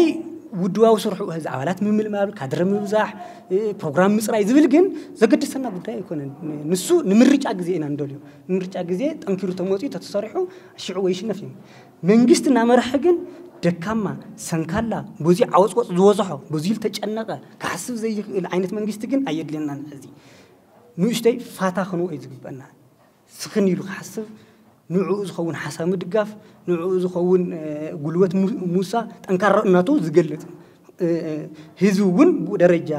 ውድባዊ ስርሑ እዚ ኣባላት ምምልማል፣ ካድረ ምብዛሕ፣ እ፣ ፕሮግራም ምፅራይ ዝብል ግን ዘገድሰና ጉዳይ ኣይኮነን። ንሱ ንምርጫ ግዜ ኢና ንደልዮ። ንምርጫ ግዜ ጠንኪሩ ተመፅዩ ተተሰሪሑ ሽዑ ወይ ሽነፍ እዩ። መንግስቲ እናመርሐ ግን ደካማ፣ ሰንካላ፣ ብዙ ዓወፅወፅ ዝበዝሖ፣ ብዙ ዝተጨነቐ፣ ክሓስብ ዘይኽእል ዓይነት መንግስቲ ግን ኣየድልየናን። ሕዚ ንእሽተይ ፋታ ክንዎ እዩ ዝግበና። ስኽን ኢሉ ክሓስብ፣ ንዕኡ ዝኸውን ሓሳብ ምድጋፍ፣ ንዕኡ ዝኸውን፣ እ፣ ጉልበት ሙ-፣ ሙሳ ጠንካራነቱ ዝገልጽ፣ እ፣ እ፣ ህዝቢ እውን ብኡ ደረጃ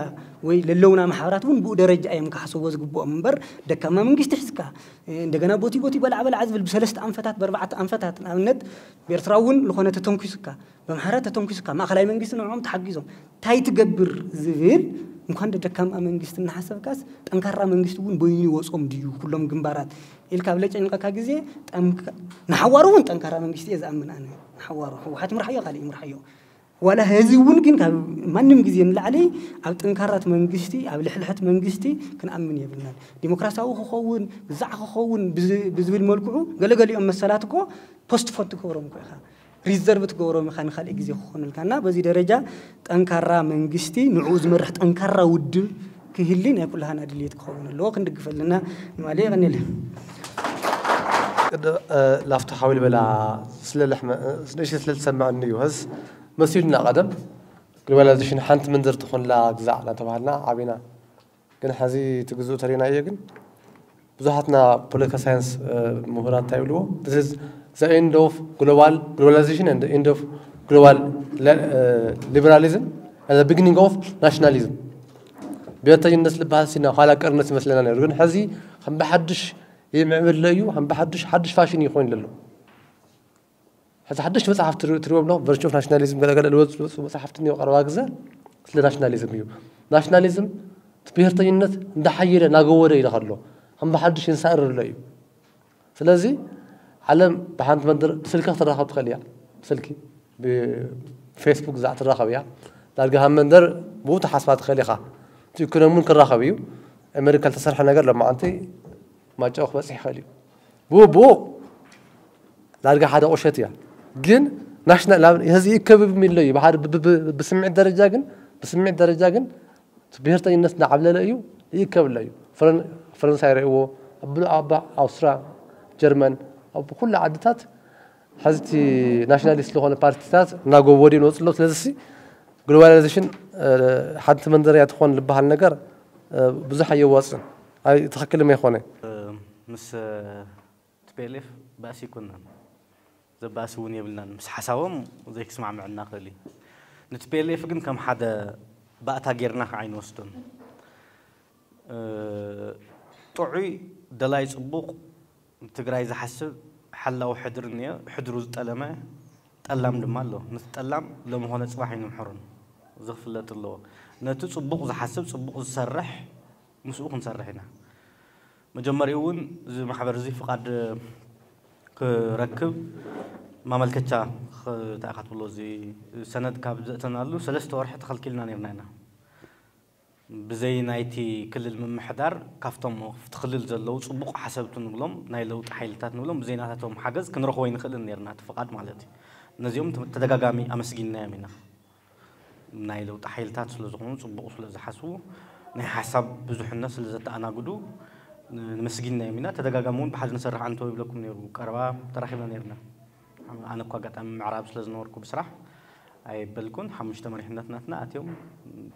ወይ ለለውና ማሕበራት እውን ብኡ ደረጃ እዮም ክሓስብዎ ዝግብኦም እምበር፣ ደካማ መንግስቲ ሒዝካ፣ እ፣ እንደገና ቦቲ ቦቲ በላዕ በላዕ ዝብል ብሰለስተ ኣንፈታት፣ ብኣርባዕተ ኣንፈታት፣ ንኣብነት ብኤርትራ እውን ዝኾነ ተተንኪሱካ፣ ብኣምሓራ ተተንኪሱካ፣ ማእኸላይ መንግስቲ ንዕኦም ተሓጊዞም እንታይ ትገብር ዝብል፣ እንኳን ደካማ መንግስቲ እናሓሰብካስ፣ ጠንካራ መንግስቲ እውን በይኑ ይወጾም ድዩ ኩሎም ግንባራት ኢልካ ኣብ ለጨንቀካ ግዜ፣ ጠንካ-፣ ንሓዋሩ እውን ጠንካራ መንግስቲ እየ ዝኣምን ኣነ። ንሓዋሩ ህወሓት ይምርሓዮ፣ ካልእ ይምርሓዮ። ዋላ ህዚ እውን ግን ካብ ማንም ግዜ ንላዕሊ ኣብ ጠንካራት መንግስቲ፣ ኣብ ልሕልሐት መንግስቲ ክንኣምን የብልናን። ዲሞክራሲያዊ ክኸውን፣ ግዛዕ ክኸውን ብዝ-፣ ብዝብል መልክዑ ገለገሊኦም መሰላት እኮ ፖስትፖን ትገብሮም እኮ ኢኻ። ሪዘርቭ ትገብሮም ኢኻ ንኻልእ ግዜ ክኾነልካ። እና በዚ ደረጃ ጠንካራ መንግስቲ፣ ንዕኡ ዝመርሕ ጠንካራ ውድብ ክህሊ ናይ ኩላህና ድልየት ክኸውን ኣለዎ። ክንድግፍ ኣለና ንማለ። የቐንየለ። ቅድ-፣ እ፣ ላፍቶ ሓዊል በላ ስለ ለሕመ-፣ እ፣ ንእሽተይ ስለ ዝሰማዕኒ እዩ። ህስ መሲሉና ቀደም ግሎባላይዜሽን ሓንቲ መንደር ትኾንላ ግዛዕ እናተባሃልና ዓቢና። ግን ሕዚ እቲ ግዝኡ ተሪናዮ ግን ብዙሓትና ፖለቲካ ሳይንስ፣ እ፣ ምሁራት እንታይ ይብልዎ? This is the end of global globalization and the end of global le-፣ እ፣ liberalism and the beginning of nationalism። ብሄርተኝነት ዝበሃል ሲና ኋላ ቀርነት ይመስለና ነይሩ። ግን ሕዚ ከም ብሓድሽ ይምዕብል ኣሎ እዩ፣ ከም ብሓድሽ ሓድሽ ፋሽን ይኾን ኣሎ። ሕዚ ሓደሽቲ መጽሓፍቲ ትሪ-፣ ትሪኦም ኣለኹም። ቨርቹ ኦፍ ናሽናሊዝም ገለ ገለ ልወጽ-፣ ልወጽኡ መጽሓፍቲ እኒኦ ቀረባ ግዘ ስለ ናሽናሊዝም እዩ። ናሽናሊዝም እቲ ብሄርተኝነት እንዳሓየለ እናገወደ ኢለ ከሎ ከም ብሓድሽ ይንሳእር ኣሎ እዩ። ስለዚ ዓለም ብሓንቲ መንደር ብስልኪ ክትራኸብ ትኽእል እያ። ብስልኪ፣ ብፌስቡክ፣ ፌስቡክ እዛ ትራኸብ እያ። ዳርጋ ሃብ መንደር ብኡ ተሓስባ ትኽእል ኢኻ። እቲ ኢኮኖሚ እውን ክራኸብ እዩ። ኣሜሪካ ዝተሰርሐ ነገር ሎማዓንቲ ማጫው ክበፅሕ ይኽእል እዩ። ብኡ ብኡ ዳርጋ ሓደ ቁሸት እያ። ግን ናሽናል ህዚ ይከብብ የሚለው እዩ። ብሓደ ብ- ብ- ብ- ብስምዒት ደረጃ ግን ብስምዒት ደረጃ ግን ብሄርተኝነት እናዓብለለ እዩ ይከብለ እዩ። ፈረን- ፈረንሳይ ረእዎ ኣብ ኣብ ኣውስትራ ጀርመን ኣብ ኩሉ ዓድታት ሕዝቲ ናሽናሊስት ዝኾነ ፓርቲታት እናጎወዱ ይመፁ ኣለዉ። ስለዚ ግሎባላይዜሽን ሓንቲ መንደርያ ትኾን ዝበሃል ነገር ብዙሕ ኣየዋፅን። ኣይ ትኽክል ኣይኮነ። ምስ ቲ ፒ ኤል ኤፍ ባእሲ ኣይኮንናን፣ ዘባእሲ እውን የብልናን። ምስ ሓሳቦም ዘይክስማዕምዕና ክእል እዩ። ንቲ ፒ ኤል ኤፍ ግን ከም ሓደ ባእታ ጌርና ከዓ ኣይንወስዶን። ጥዑይ ደላይ ፅቡቕ ንትግራይ ዝሓስብ ሓላዊ ሕድሪ እኒኦ። ሕድሩ ዝጠለመ ጠላም ድማ ኣሎ። ነቲ ጠላም ሎሚ ኮነ ፅባሕ ኣይንምሕሮን። እዚ ክፍለጥ ኣለዎ። ነቲ ፅቡቕ ዝሓስብ ፅቡቕ ዝሰርሕ ምስኡ ክንሰርሕ ኢና። መጀመሪኡ እውን እዚ ማሕበር እዚ ፍቓድ ክረክብ ማመልከቻ ተኣኻትብሎ እዚ ሰነድ ካብ ዘእተናሉ ሰለስተ ወርሒ ተኸልኪልና ነርና ኢና። ብዘይ ናይቲ ክልል ምምሕዳር ካብቶም ኣብቲ ክልል ዘለዉ ፅቡቕ ሓሰብቲ ንብሎም ናይ ለውጢ ሓይልታት ንብሎም ብዘይ ናታቶም ሓገዝ ክንረኽቦ ኣይንኽእልን ነርና እቲ ፍቓድ ማለት እዩ። ነዚኦም ተደጋጋሚ ኣመስጊንናዮም ኢና። ናይ ለውጢ ሓይልታት ስለ ዝኾኑ ፅቡቕ ስለ ዝሓስቡ ናይ ሓሳብ ብዙሕነት ስለ ዘተኣናግዱ ንመስጊንናዮም ኢና። ተደጋጋሚ እውን ብሓደ ንሰርሕ ኣንተው ይብለኩም ነይሩ። ቀረባ ተራኺብና ነርና። ኣነ እኳ ኣጋጣሚ ምዕራብ ስለ ዝነበርኩ ብስራሕ ኣይበልኩን። ሓሙሽተ መሪሕነት ናትና ኣትዮም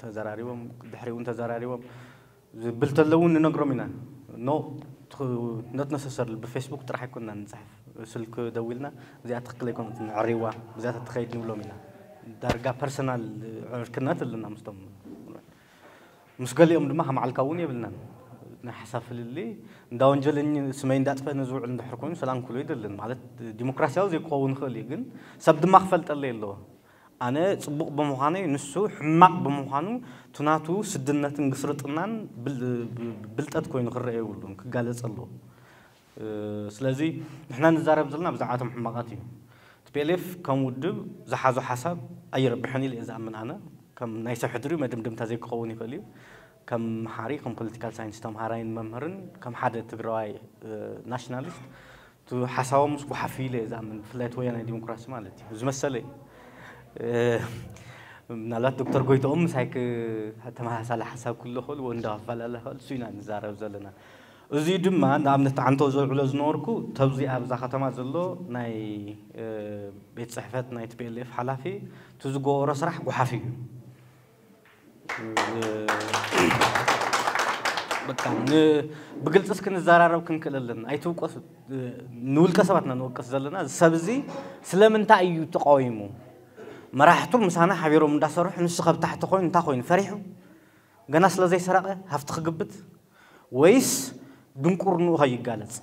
ተዘራሪቦም፣ ድሕሪ እውን ተዘራሪቦም ዝብል ተለውን ንነግሮም ኢና። ኖ ነት ነሰሰር ብፌስቡክ ጥራሕ ኣይኮንና ንፅሕፍ። ስልክ ደዊልና እዚኣ ትክክል ኣይኮነትን፣ ዕሪዋ ብዚኣ ተትኸይድ ንብሎም ኢና። ዳርጋ ፐርሰናል ዕርክነት ኣለና ምስቶም። ምስ ገሊኦም ድማ ከም ዓልካ እውን የብልናን። ናይ ሓሳብ ፍልልይ እንዳ ወንጀለኝ ስመይ እንዳጥፈ ንዝውዕል እንድሕር ኮይኑ ሰላም ክብሎ ይደልን ማለት ዲሞክራሲያዊ ዘይክኸውን ይኽእል እዩ፣ ግን ሰብ ድማ ክፈልጠለይ ኣለዎ። ኣነ ፅቡቕ ብምዃነይ ንሱ ሕማቕ ብምዃኑ እቲ ናቱ ስድነትን ግስርጥናን ብል- ብልጠት ኮይኑ ክረአ የብሉን፣ ክጋለፅ ኣለዎ። ስለዚ ንሕና ንዛረብ ዘለና ብዛዕባቶም ሕማቓት እዩ። ቲ ፒ ኤል ኤፍ ከም ውድብ ዝሓዞ ሓሳብ ኣይረብሕን ኢለ እየ ዝኣምን። ኣነ ከም ናይ ሰብ ሕድሪ መደምደምታ ዘይክኸውን ይኽእል እዩ። ከም መሓሪ ከም ፖለቲካል ሳይንስ ተምሃራይን መምህርን ከም ሓደ ትግራዋይ ናሽናሊስት እቲ ሓሳቦም ምስ ጓሓፍ ኢለ እየ ዝኣምን፣ ብፍላይ እቲ ወያናይ ዲሞክራሲ ማለት እዩ ዝመሰለ። ምናልባት ዶክተር ጎይትኦም ምሳይ ተመሳሳሊ ሓሳብ ክህሉ ክእል ወይ እንዳፈላለ ክእል እሱ ኢና ንዛረብ ዘለና። እዚ ድማ ንኣብነት ዓንቶ ዘውዕሎ ዝነበርኩ ተብዚ ኣብዛ ከተማ ዘሎ ናይ ቤት ፅሕፈት ናይ ቲ ፒ ኤል ኤፍ ሓላፊ እቲ ዝገበሮ ስራሕ ጓሓፍ እዩ። በቃ ን- ብግልፂ እስኪ ንዘራረብ ክንክእል ኣለና። ኣይትውቀሱ። ንውልቀ ሰባት ኢና ንወቅስ ዘለና። እዚ ሰብ እዚ ስለምንታይ እዩ ተቃዊሙ? መራሕቱ ምሳና ሓቢሮም እንዳሰርሑ ንሱ ካብ ታሕቲ ኮይኑ እንታይ ኮይኑ ፈሪሑ? ገና ስለ ዘይሰረቀ ሃፍቲ ክግብት ወይስ ድንቁርንኡ ከይጋለፅ?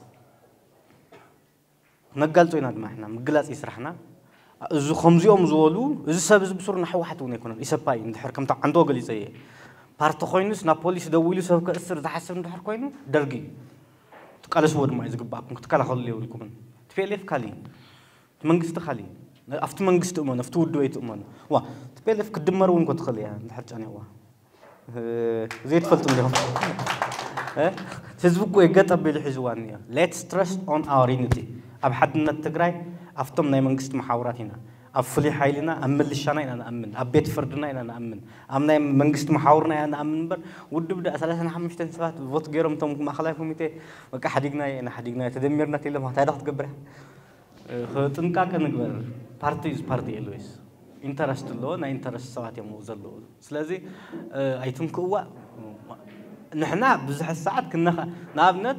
ነጋልጾ ኢና ድማ ሕና ምግላጽ እዩ ስራሕና። እዚ ከምዚኦም ዝበሉ እዚ ሰብ እዚ ብሱር ንሕወሓት እውን ኣይኮነን ኢሰፓ እዩ። እንድሕር ከምታ ዓንዶ ገሊጸ እየ ፓርቲ ኮይኑስ ናብ ፖሊስ ደዊሉ ሰብ ከእስር ዝሓስብ እንድሕር ኮይኑ ደርጊ እዩ። ትቃለስዎ ድማ እዩ ዝግባኣኩም፣ ክትከላኸልሉ የብልኩምን። ቲ ፒ ኤል ኤፍ ካሊ እቲ መንግስቲ ካሊ ኣብቲ መንግስቲ እመኑ፣ ኣብቲ ውድብ ኣይትእመኑ። ዋ ቲ ፒ ኤል ኤፍ ክትድመር እውን እኮ ትኽእል እያ እንድሕር ጫንያዋ። ዘይትፈልጡ እንዲኹም ህዝቢ እኮ የገጠ ኣቢሉ ሒዝዋ እኒኦ። Let's trust on our unity። ኣብ ሓድነት ትግራይ ኣብቶም ናይ መንግስቲ መሓውራት ኢና፣ ኣብ ፍሉይ ሓይልና ኣብ ምልሻና ኢና ንኣምን፣ ኣብ ቤት ፍርድና ኢና ንኣምን፣ ኣብ ናይ መንግስቲ መሓውርና ኢና ንኣምን እምበር ውድብ ዳ ሰላሳን ሓሙሽተን ሰባት ቮት ገይሮም እቶም ማእኸላይ ኮሚቴ በቃ ሓዲግናዮ ኢና ሓዲግናዮ ተደሚርና ተኢሎም እንታይ ዶ ክትገብር ኢኻ? ጥንቃቄ ንግበር። ፓርቲ is party always ኢንተረስት ኣለዎ። ናይ ኢንተረስት ሰባት እዮም ኣብኡ ዘለዉ። ስለዚ ኣይትንክእዋ። ንሕና ብዙሕ ሰዓት ክነኸ ንኣብነት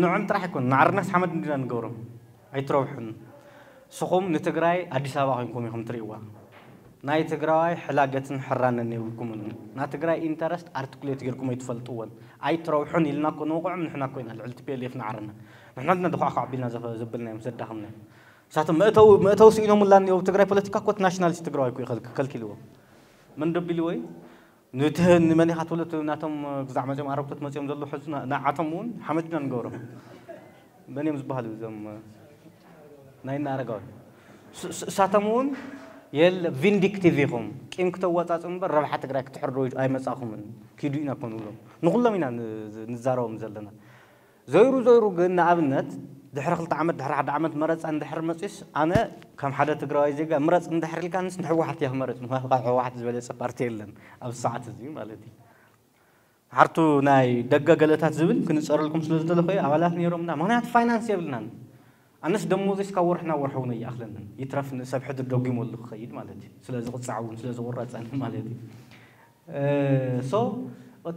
ንዖም ጥራሕ ኣይኮን ንዓርናስ ሓመድ እንዲና ንገብሮም ኣይትረብሑን። ንስኹም ንትግራይ ኣዲስ ኣበባ ኮይንኩም ኢኹም ትርእይዋ። ናይ ትግራዋይ ሕላገትን ሕራነን የብልኩምን። ናይ ትግራይ ኢንተረስት ኣርቲኩሌት ጌርኩም ኣይትፈልጥዎን። ኣይትረብሑን ኢልና እኮ ንወቕዖም ንሕና እኮ ኢና ልዕሊ ቲ ፒ ኤል ኤፍ ንዓርና። ንሕና ድና ድኳዕኳዕ ኣቢልና ዘበ- ዘበልናዮም ዘዳኸምናዮም። ንሳቶም መእተዊ መእተዊ ስኢኖምላ እኒኦ። ትግራይ ፖለቲካ እኮ እቲ ናሽናሊስት ትግራዋይ እኮ እዩ ከልክ- ከልኪልዎ። መን ደቢልዎ እዩ? ንትህ ንመን ኢኻ ትብሎ? እቲ ናቶም ግዛዕ መፅኦም ኣረግቶት መፅኦም ዘለዉ ሕዚ ና- ንዓቶም እውን ሓመድና ንገብሮም። መን እዮም ዝበሃሉ እዞም ናይ እና ኣረጋዊ? ስ- ስ- እሳቶም እውን የለ ቪንዲክቲቭ ኢኹም፣ ቂም ክተወጻጽኡ እምበር ረብሓ ትግራይ ክትሕርዱ ኣይመጻኹምን። ኪዱ ኢና ኮን ብሎም ንኹሎም ኢና ንዛረቦም ዘለና። ዘይሩ ዘይሩ ግን ንኣብነት ድሕሪ ክልተ ዓመት ድሕሪ ሓደ ዓመት መረፃ እንድሕር መፅስ ኣነ ከም ሓደ ትግራዋይ ዜጋ ምረፅ እንድሕር ኢልካ ንስ ንሕወሓት እያ ክመረፅ። ምክንያቱ ካብ ሕወሓት ዝበለፀ ፓርቲ የለን ኣብ ሰዓት እዚ ማለት እዩ። ሓርቱ ናይ ደገ ገለታት ዝብል ክንፀረልኩም ስለ ዝደለኹ ኣባላት ነይሮምና። ምክንያቱ ፋይናንስ የብልናን። ኣነስ ደሞዘይ እስካብ ወርሒ ናብ ወርሒ እውን ኣይኣኽለንን። ይትረፍ ንሰብ ሕድሪ ደጊመሉ ክኸይድ ማለት እዩ። ስለ ዝቕፃዕ እውን ስለ ዝቑረፀን ማለት እዩ። ሶ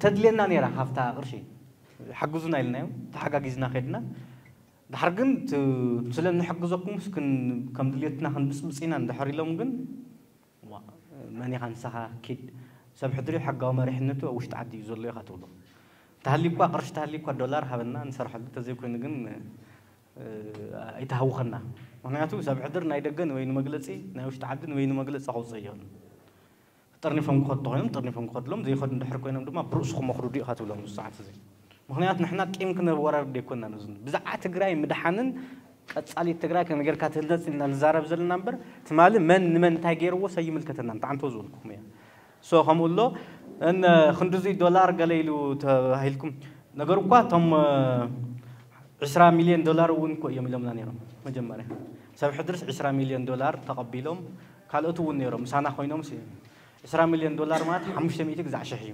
ተድልየና ነይራ ካብታ ቅርሺ ሓግዙና ኢልናዮም ተሓጋጊዝና ከድና። ድሓር ግን ስለ ንሕግዘኩም ከም ድልየትና ክንብፅብፅ ኢና እንድሕር ኢሎም ግን መን ኢኻ ንስኻ ኪድ ሰብ ሕድሪ ሕጋዊ መሪሕነቱ ኣብ ውሽጢ ዓዲ እዩ ዘሎ ኢኻ ትብሎ። ተሃሊኳ ቅርሺ ተሃሊኳ ዶላር ሃበና ንሰርሐሉ ተዘይኮይኑ ግን ኣይተሃውኸና። ምክንያቱ ሰብ ሕድር ናይ ደገ ንበይኑ መግለፂ ናይ ውሽጢ ዓዲ ንበይኑ መግለፂ ከውፅእ እዮ። ጠርኒፎም ክኸዱ ኮይኖም ጠርኒፎም ክኸድሎም ዘይኸዱ እንድሕር ኮይኖም ድማ ብርእስኹም መኽርዱ ኢኻ ትብሎም። ሰዓት እዚ ምክንያቱ ንሕና ቂም ክነወራርድ ኣይኮናን። እዚ ብዛዕባ ትግራይ ምድሓንን ቀፃሊት ትግራይ ከመይ ጌርካ ትህነፅ ኢልና ንዛረብ ዘለና እምበር ትማሊ መን ንመን እንታይ ገይርዎ ሰይምልከተና ብጣዕሚ ተዝብልኩም እያ። ሶ ከምኡ ኣሎ እን ክንድዙይ ዶላር ገለ ኢሉ ተባሂልኩም ነገር እኳ እቶም ዕስራ ሚልዮን ዶላር እውን እኮ እዮም ኢሎምና ነይሮም። መጀመርያ ሰብ ሕድርስ ዕስራ ሚልዮን ዶላር ተቐቢሎም ካልኦት እውን ነይሮም ምሳና ኮይኖም ዕስራ ሚልዮን ዶላር ማለት ሓሙሽተ ሚእቲ ግዛዕ ሽሕ እዩ።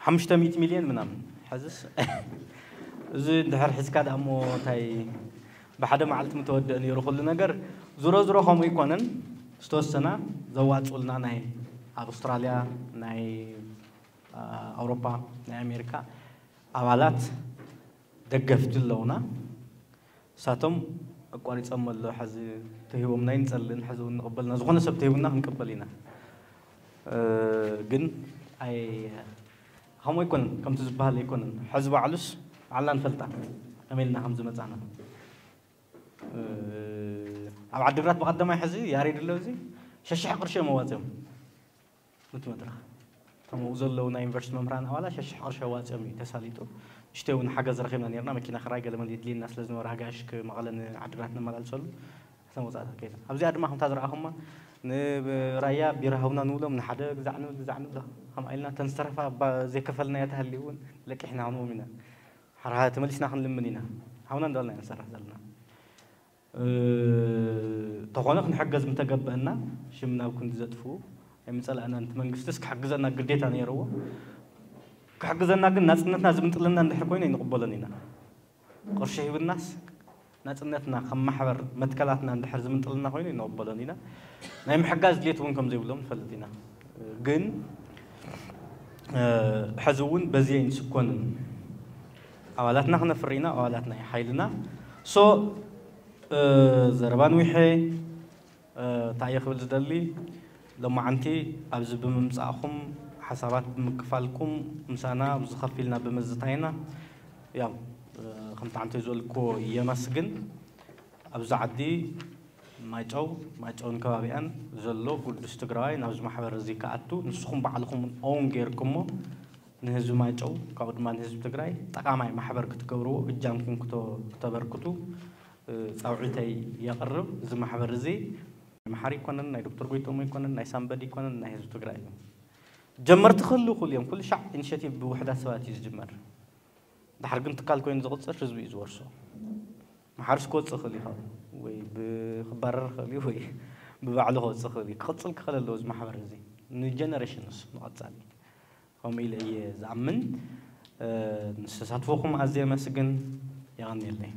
ሓሙሽተ ሚእቲ ሚልዮን ምናምን ሕዝስ እዚ እንድሕር ሕዝካ ደኣ እሞ እንታይ ብሓደ መዓልቲ ምተወደእ ነይሩ ኩሉ ነገር። ዙሮ ዙሮ ከምኡ ኣይኮነን። ዝተወሰና ዘዋፅኡልና ናይ ኣብ ኣውስትራልያ ናይ ኣውሮፓ ናይ ኣሜሪካ ኣባላት ደገፍቲ ኣለውና። እሳቶም ኣቋሪፆም ኣሎ ሕዚ ተሂቦምና ይንፀልን ሕዚ እውን ንቕበልና ዝኾነ ሰብ ተሂቡና ክንቅበል ኢና። ግን ኣይ ከምኡ ኣይኮነን ከምቲ ዝበሃል ኣይኮነን። ሕዚ ባዕሉስ ባዕልና ንፈልጣ ከመይ ኢልና ከም ዝመፃና። ኣብ ዓዲግራት ብቐደማይ ሕዚ ያሬድ ኣሎ እዚ ሸሽሕ ቅርሺ እዮም ኣዋፅኦም። እቲ መድረኽ እቶም ኣብኡ ዘለዉ ናይ ዩኒቨርሲቲ መምህራን ኣባላት ሸሽሕ ቅርሺ ኣዋፂኦም እዩ ተሳሊጡ። ንሽተይ እውን ሓገዝ ረኺብና ነርና መኪና ክራይ ገለመለ የድልየና ስለ ዝነበረ ኣጋይሽ መቐለ ንዓዲግራት ነመላልሰሉ እተን ወፃእታት ከይና ኣብዚኣ ድማ ከምታ ዝረኣኹማ ንራያ ቢራ ሃውና ንብሎም ንሓደ ግዛዕ ንብል ግዛዕ ንብሎ ከምኣ ኢልና እተን ዝተረፋ ዘይከፈልናዮ ተሃልዩ እውን ለቂሕና ክንዎም ኢና። ሓራ ተመሊስና ክንልምን ኢና። ሃውና እንዳበልና ኢና ንሰርሕ ዘለና። ተኾነ ክንሕገዝ ምተገበአና ሽም ናብ ክንዲ ዘጥፍኡ ኣይምፀላእናን። እቲ መንግስቲስ ክሕግዘና ግዴታ ነይርዎ። ክሕግዘና ግን ናፅነትና ዝምንጥልና እንድሕር ኮይኑ ኣይንቕበሎን ኢና። ቅርሺ ሂብናስ ናፅነትና ከም ማሕበር መትከላትና እንድሕር ዝምንጥልና ኮይኑ ኣይንቕበሎን ኢና። ናይ ምሕጋዝ ድሌት እውን ከም ዘይብሎም ንፈልጥ ኢና። ግን ሕዚ እውን በዚ ኣይንስኮንን። ኣባላትና ክነፍሪ ኢና። ኣባላትና እዩ ሓይልና። ሶ ዘረባ ንዊሐ እንታይ እየ ክብል ዝደሊ ሎማዓንቲ ኣብዚ ብምምፃእኹም ሓሳባት ብምክፋልኩም ምሳና ኣብዚ ከፊልና ብምዝታይና ያው ከምቲ ዓንተ ዝበልክዎ የመስግን። ኣብዚ ዓዲ ማይጨው ማይጨውን ከባቢኣን ዘሎ ግዱስ ትግራዋይ ናብዚ ማሕበር እዚ ክኣቱ ንስኹም ባዕልኹም እውን ኦን ጌርኩሞ ንህዝቢ ማይጨው ካብኡ ድማ ንህዝቢ ትግራይ ጠቓማይ ማሕበር ክትገብርዎ እጃምኩም ክተበርክቱ ፃውዒተይ የቕርብ። እዚ ማሕበር እዚ ናይ መሓሪ ኣይኮነን፣ ናይ ዶክተር ጎይቶም ኣይኮነን፣ ናይ ሳምበዲ ኣይኮነን፣ ናይ ህዝቢ ትግራይ እዩ። ጀመርቲ ክህልው ይኽእሉ እዮም። ኩሉ ሻዕ ኢኒሼቲቭ ብውሕዳት ሰባት እዩ ዝጅመር። ድሓር ግን ትካል ኮይኑ ዝቕፅር ህዝቢ እዩ ዝወርሶ። መሓርስ ክወፅእ ይኽእል እዩ ወይ ክባረር ይኽእል እዩ ወይ ብባዕሉ ክወፅእ ይኽእል እዩ። ክቕፅል ክኽእል ኣለዎ እዚ ማሕበር እዚ ንጀነሬሽንስ ንቐፃሊ። ከምኡ ኢለ እየ ዝኣምን። ንተሳትፎኹም ኣዝየ የመስግን። የቐንየለይ።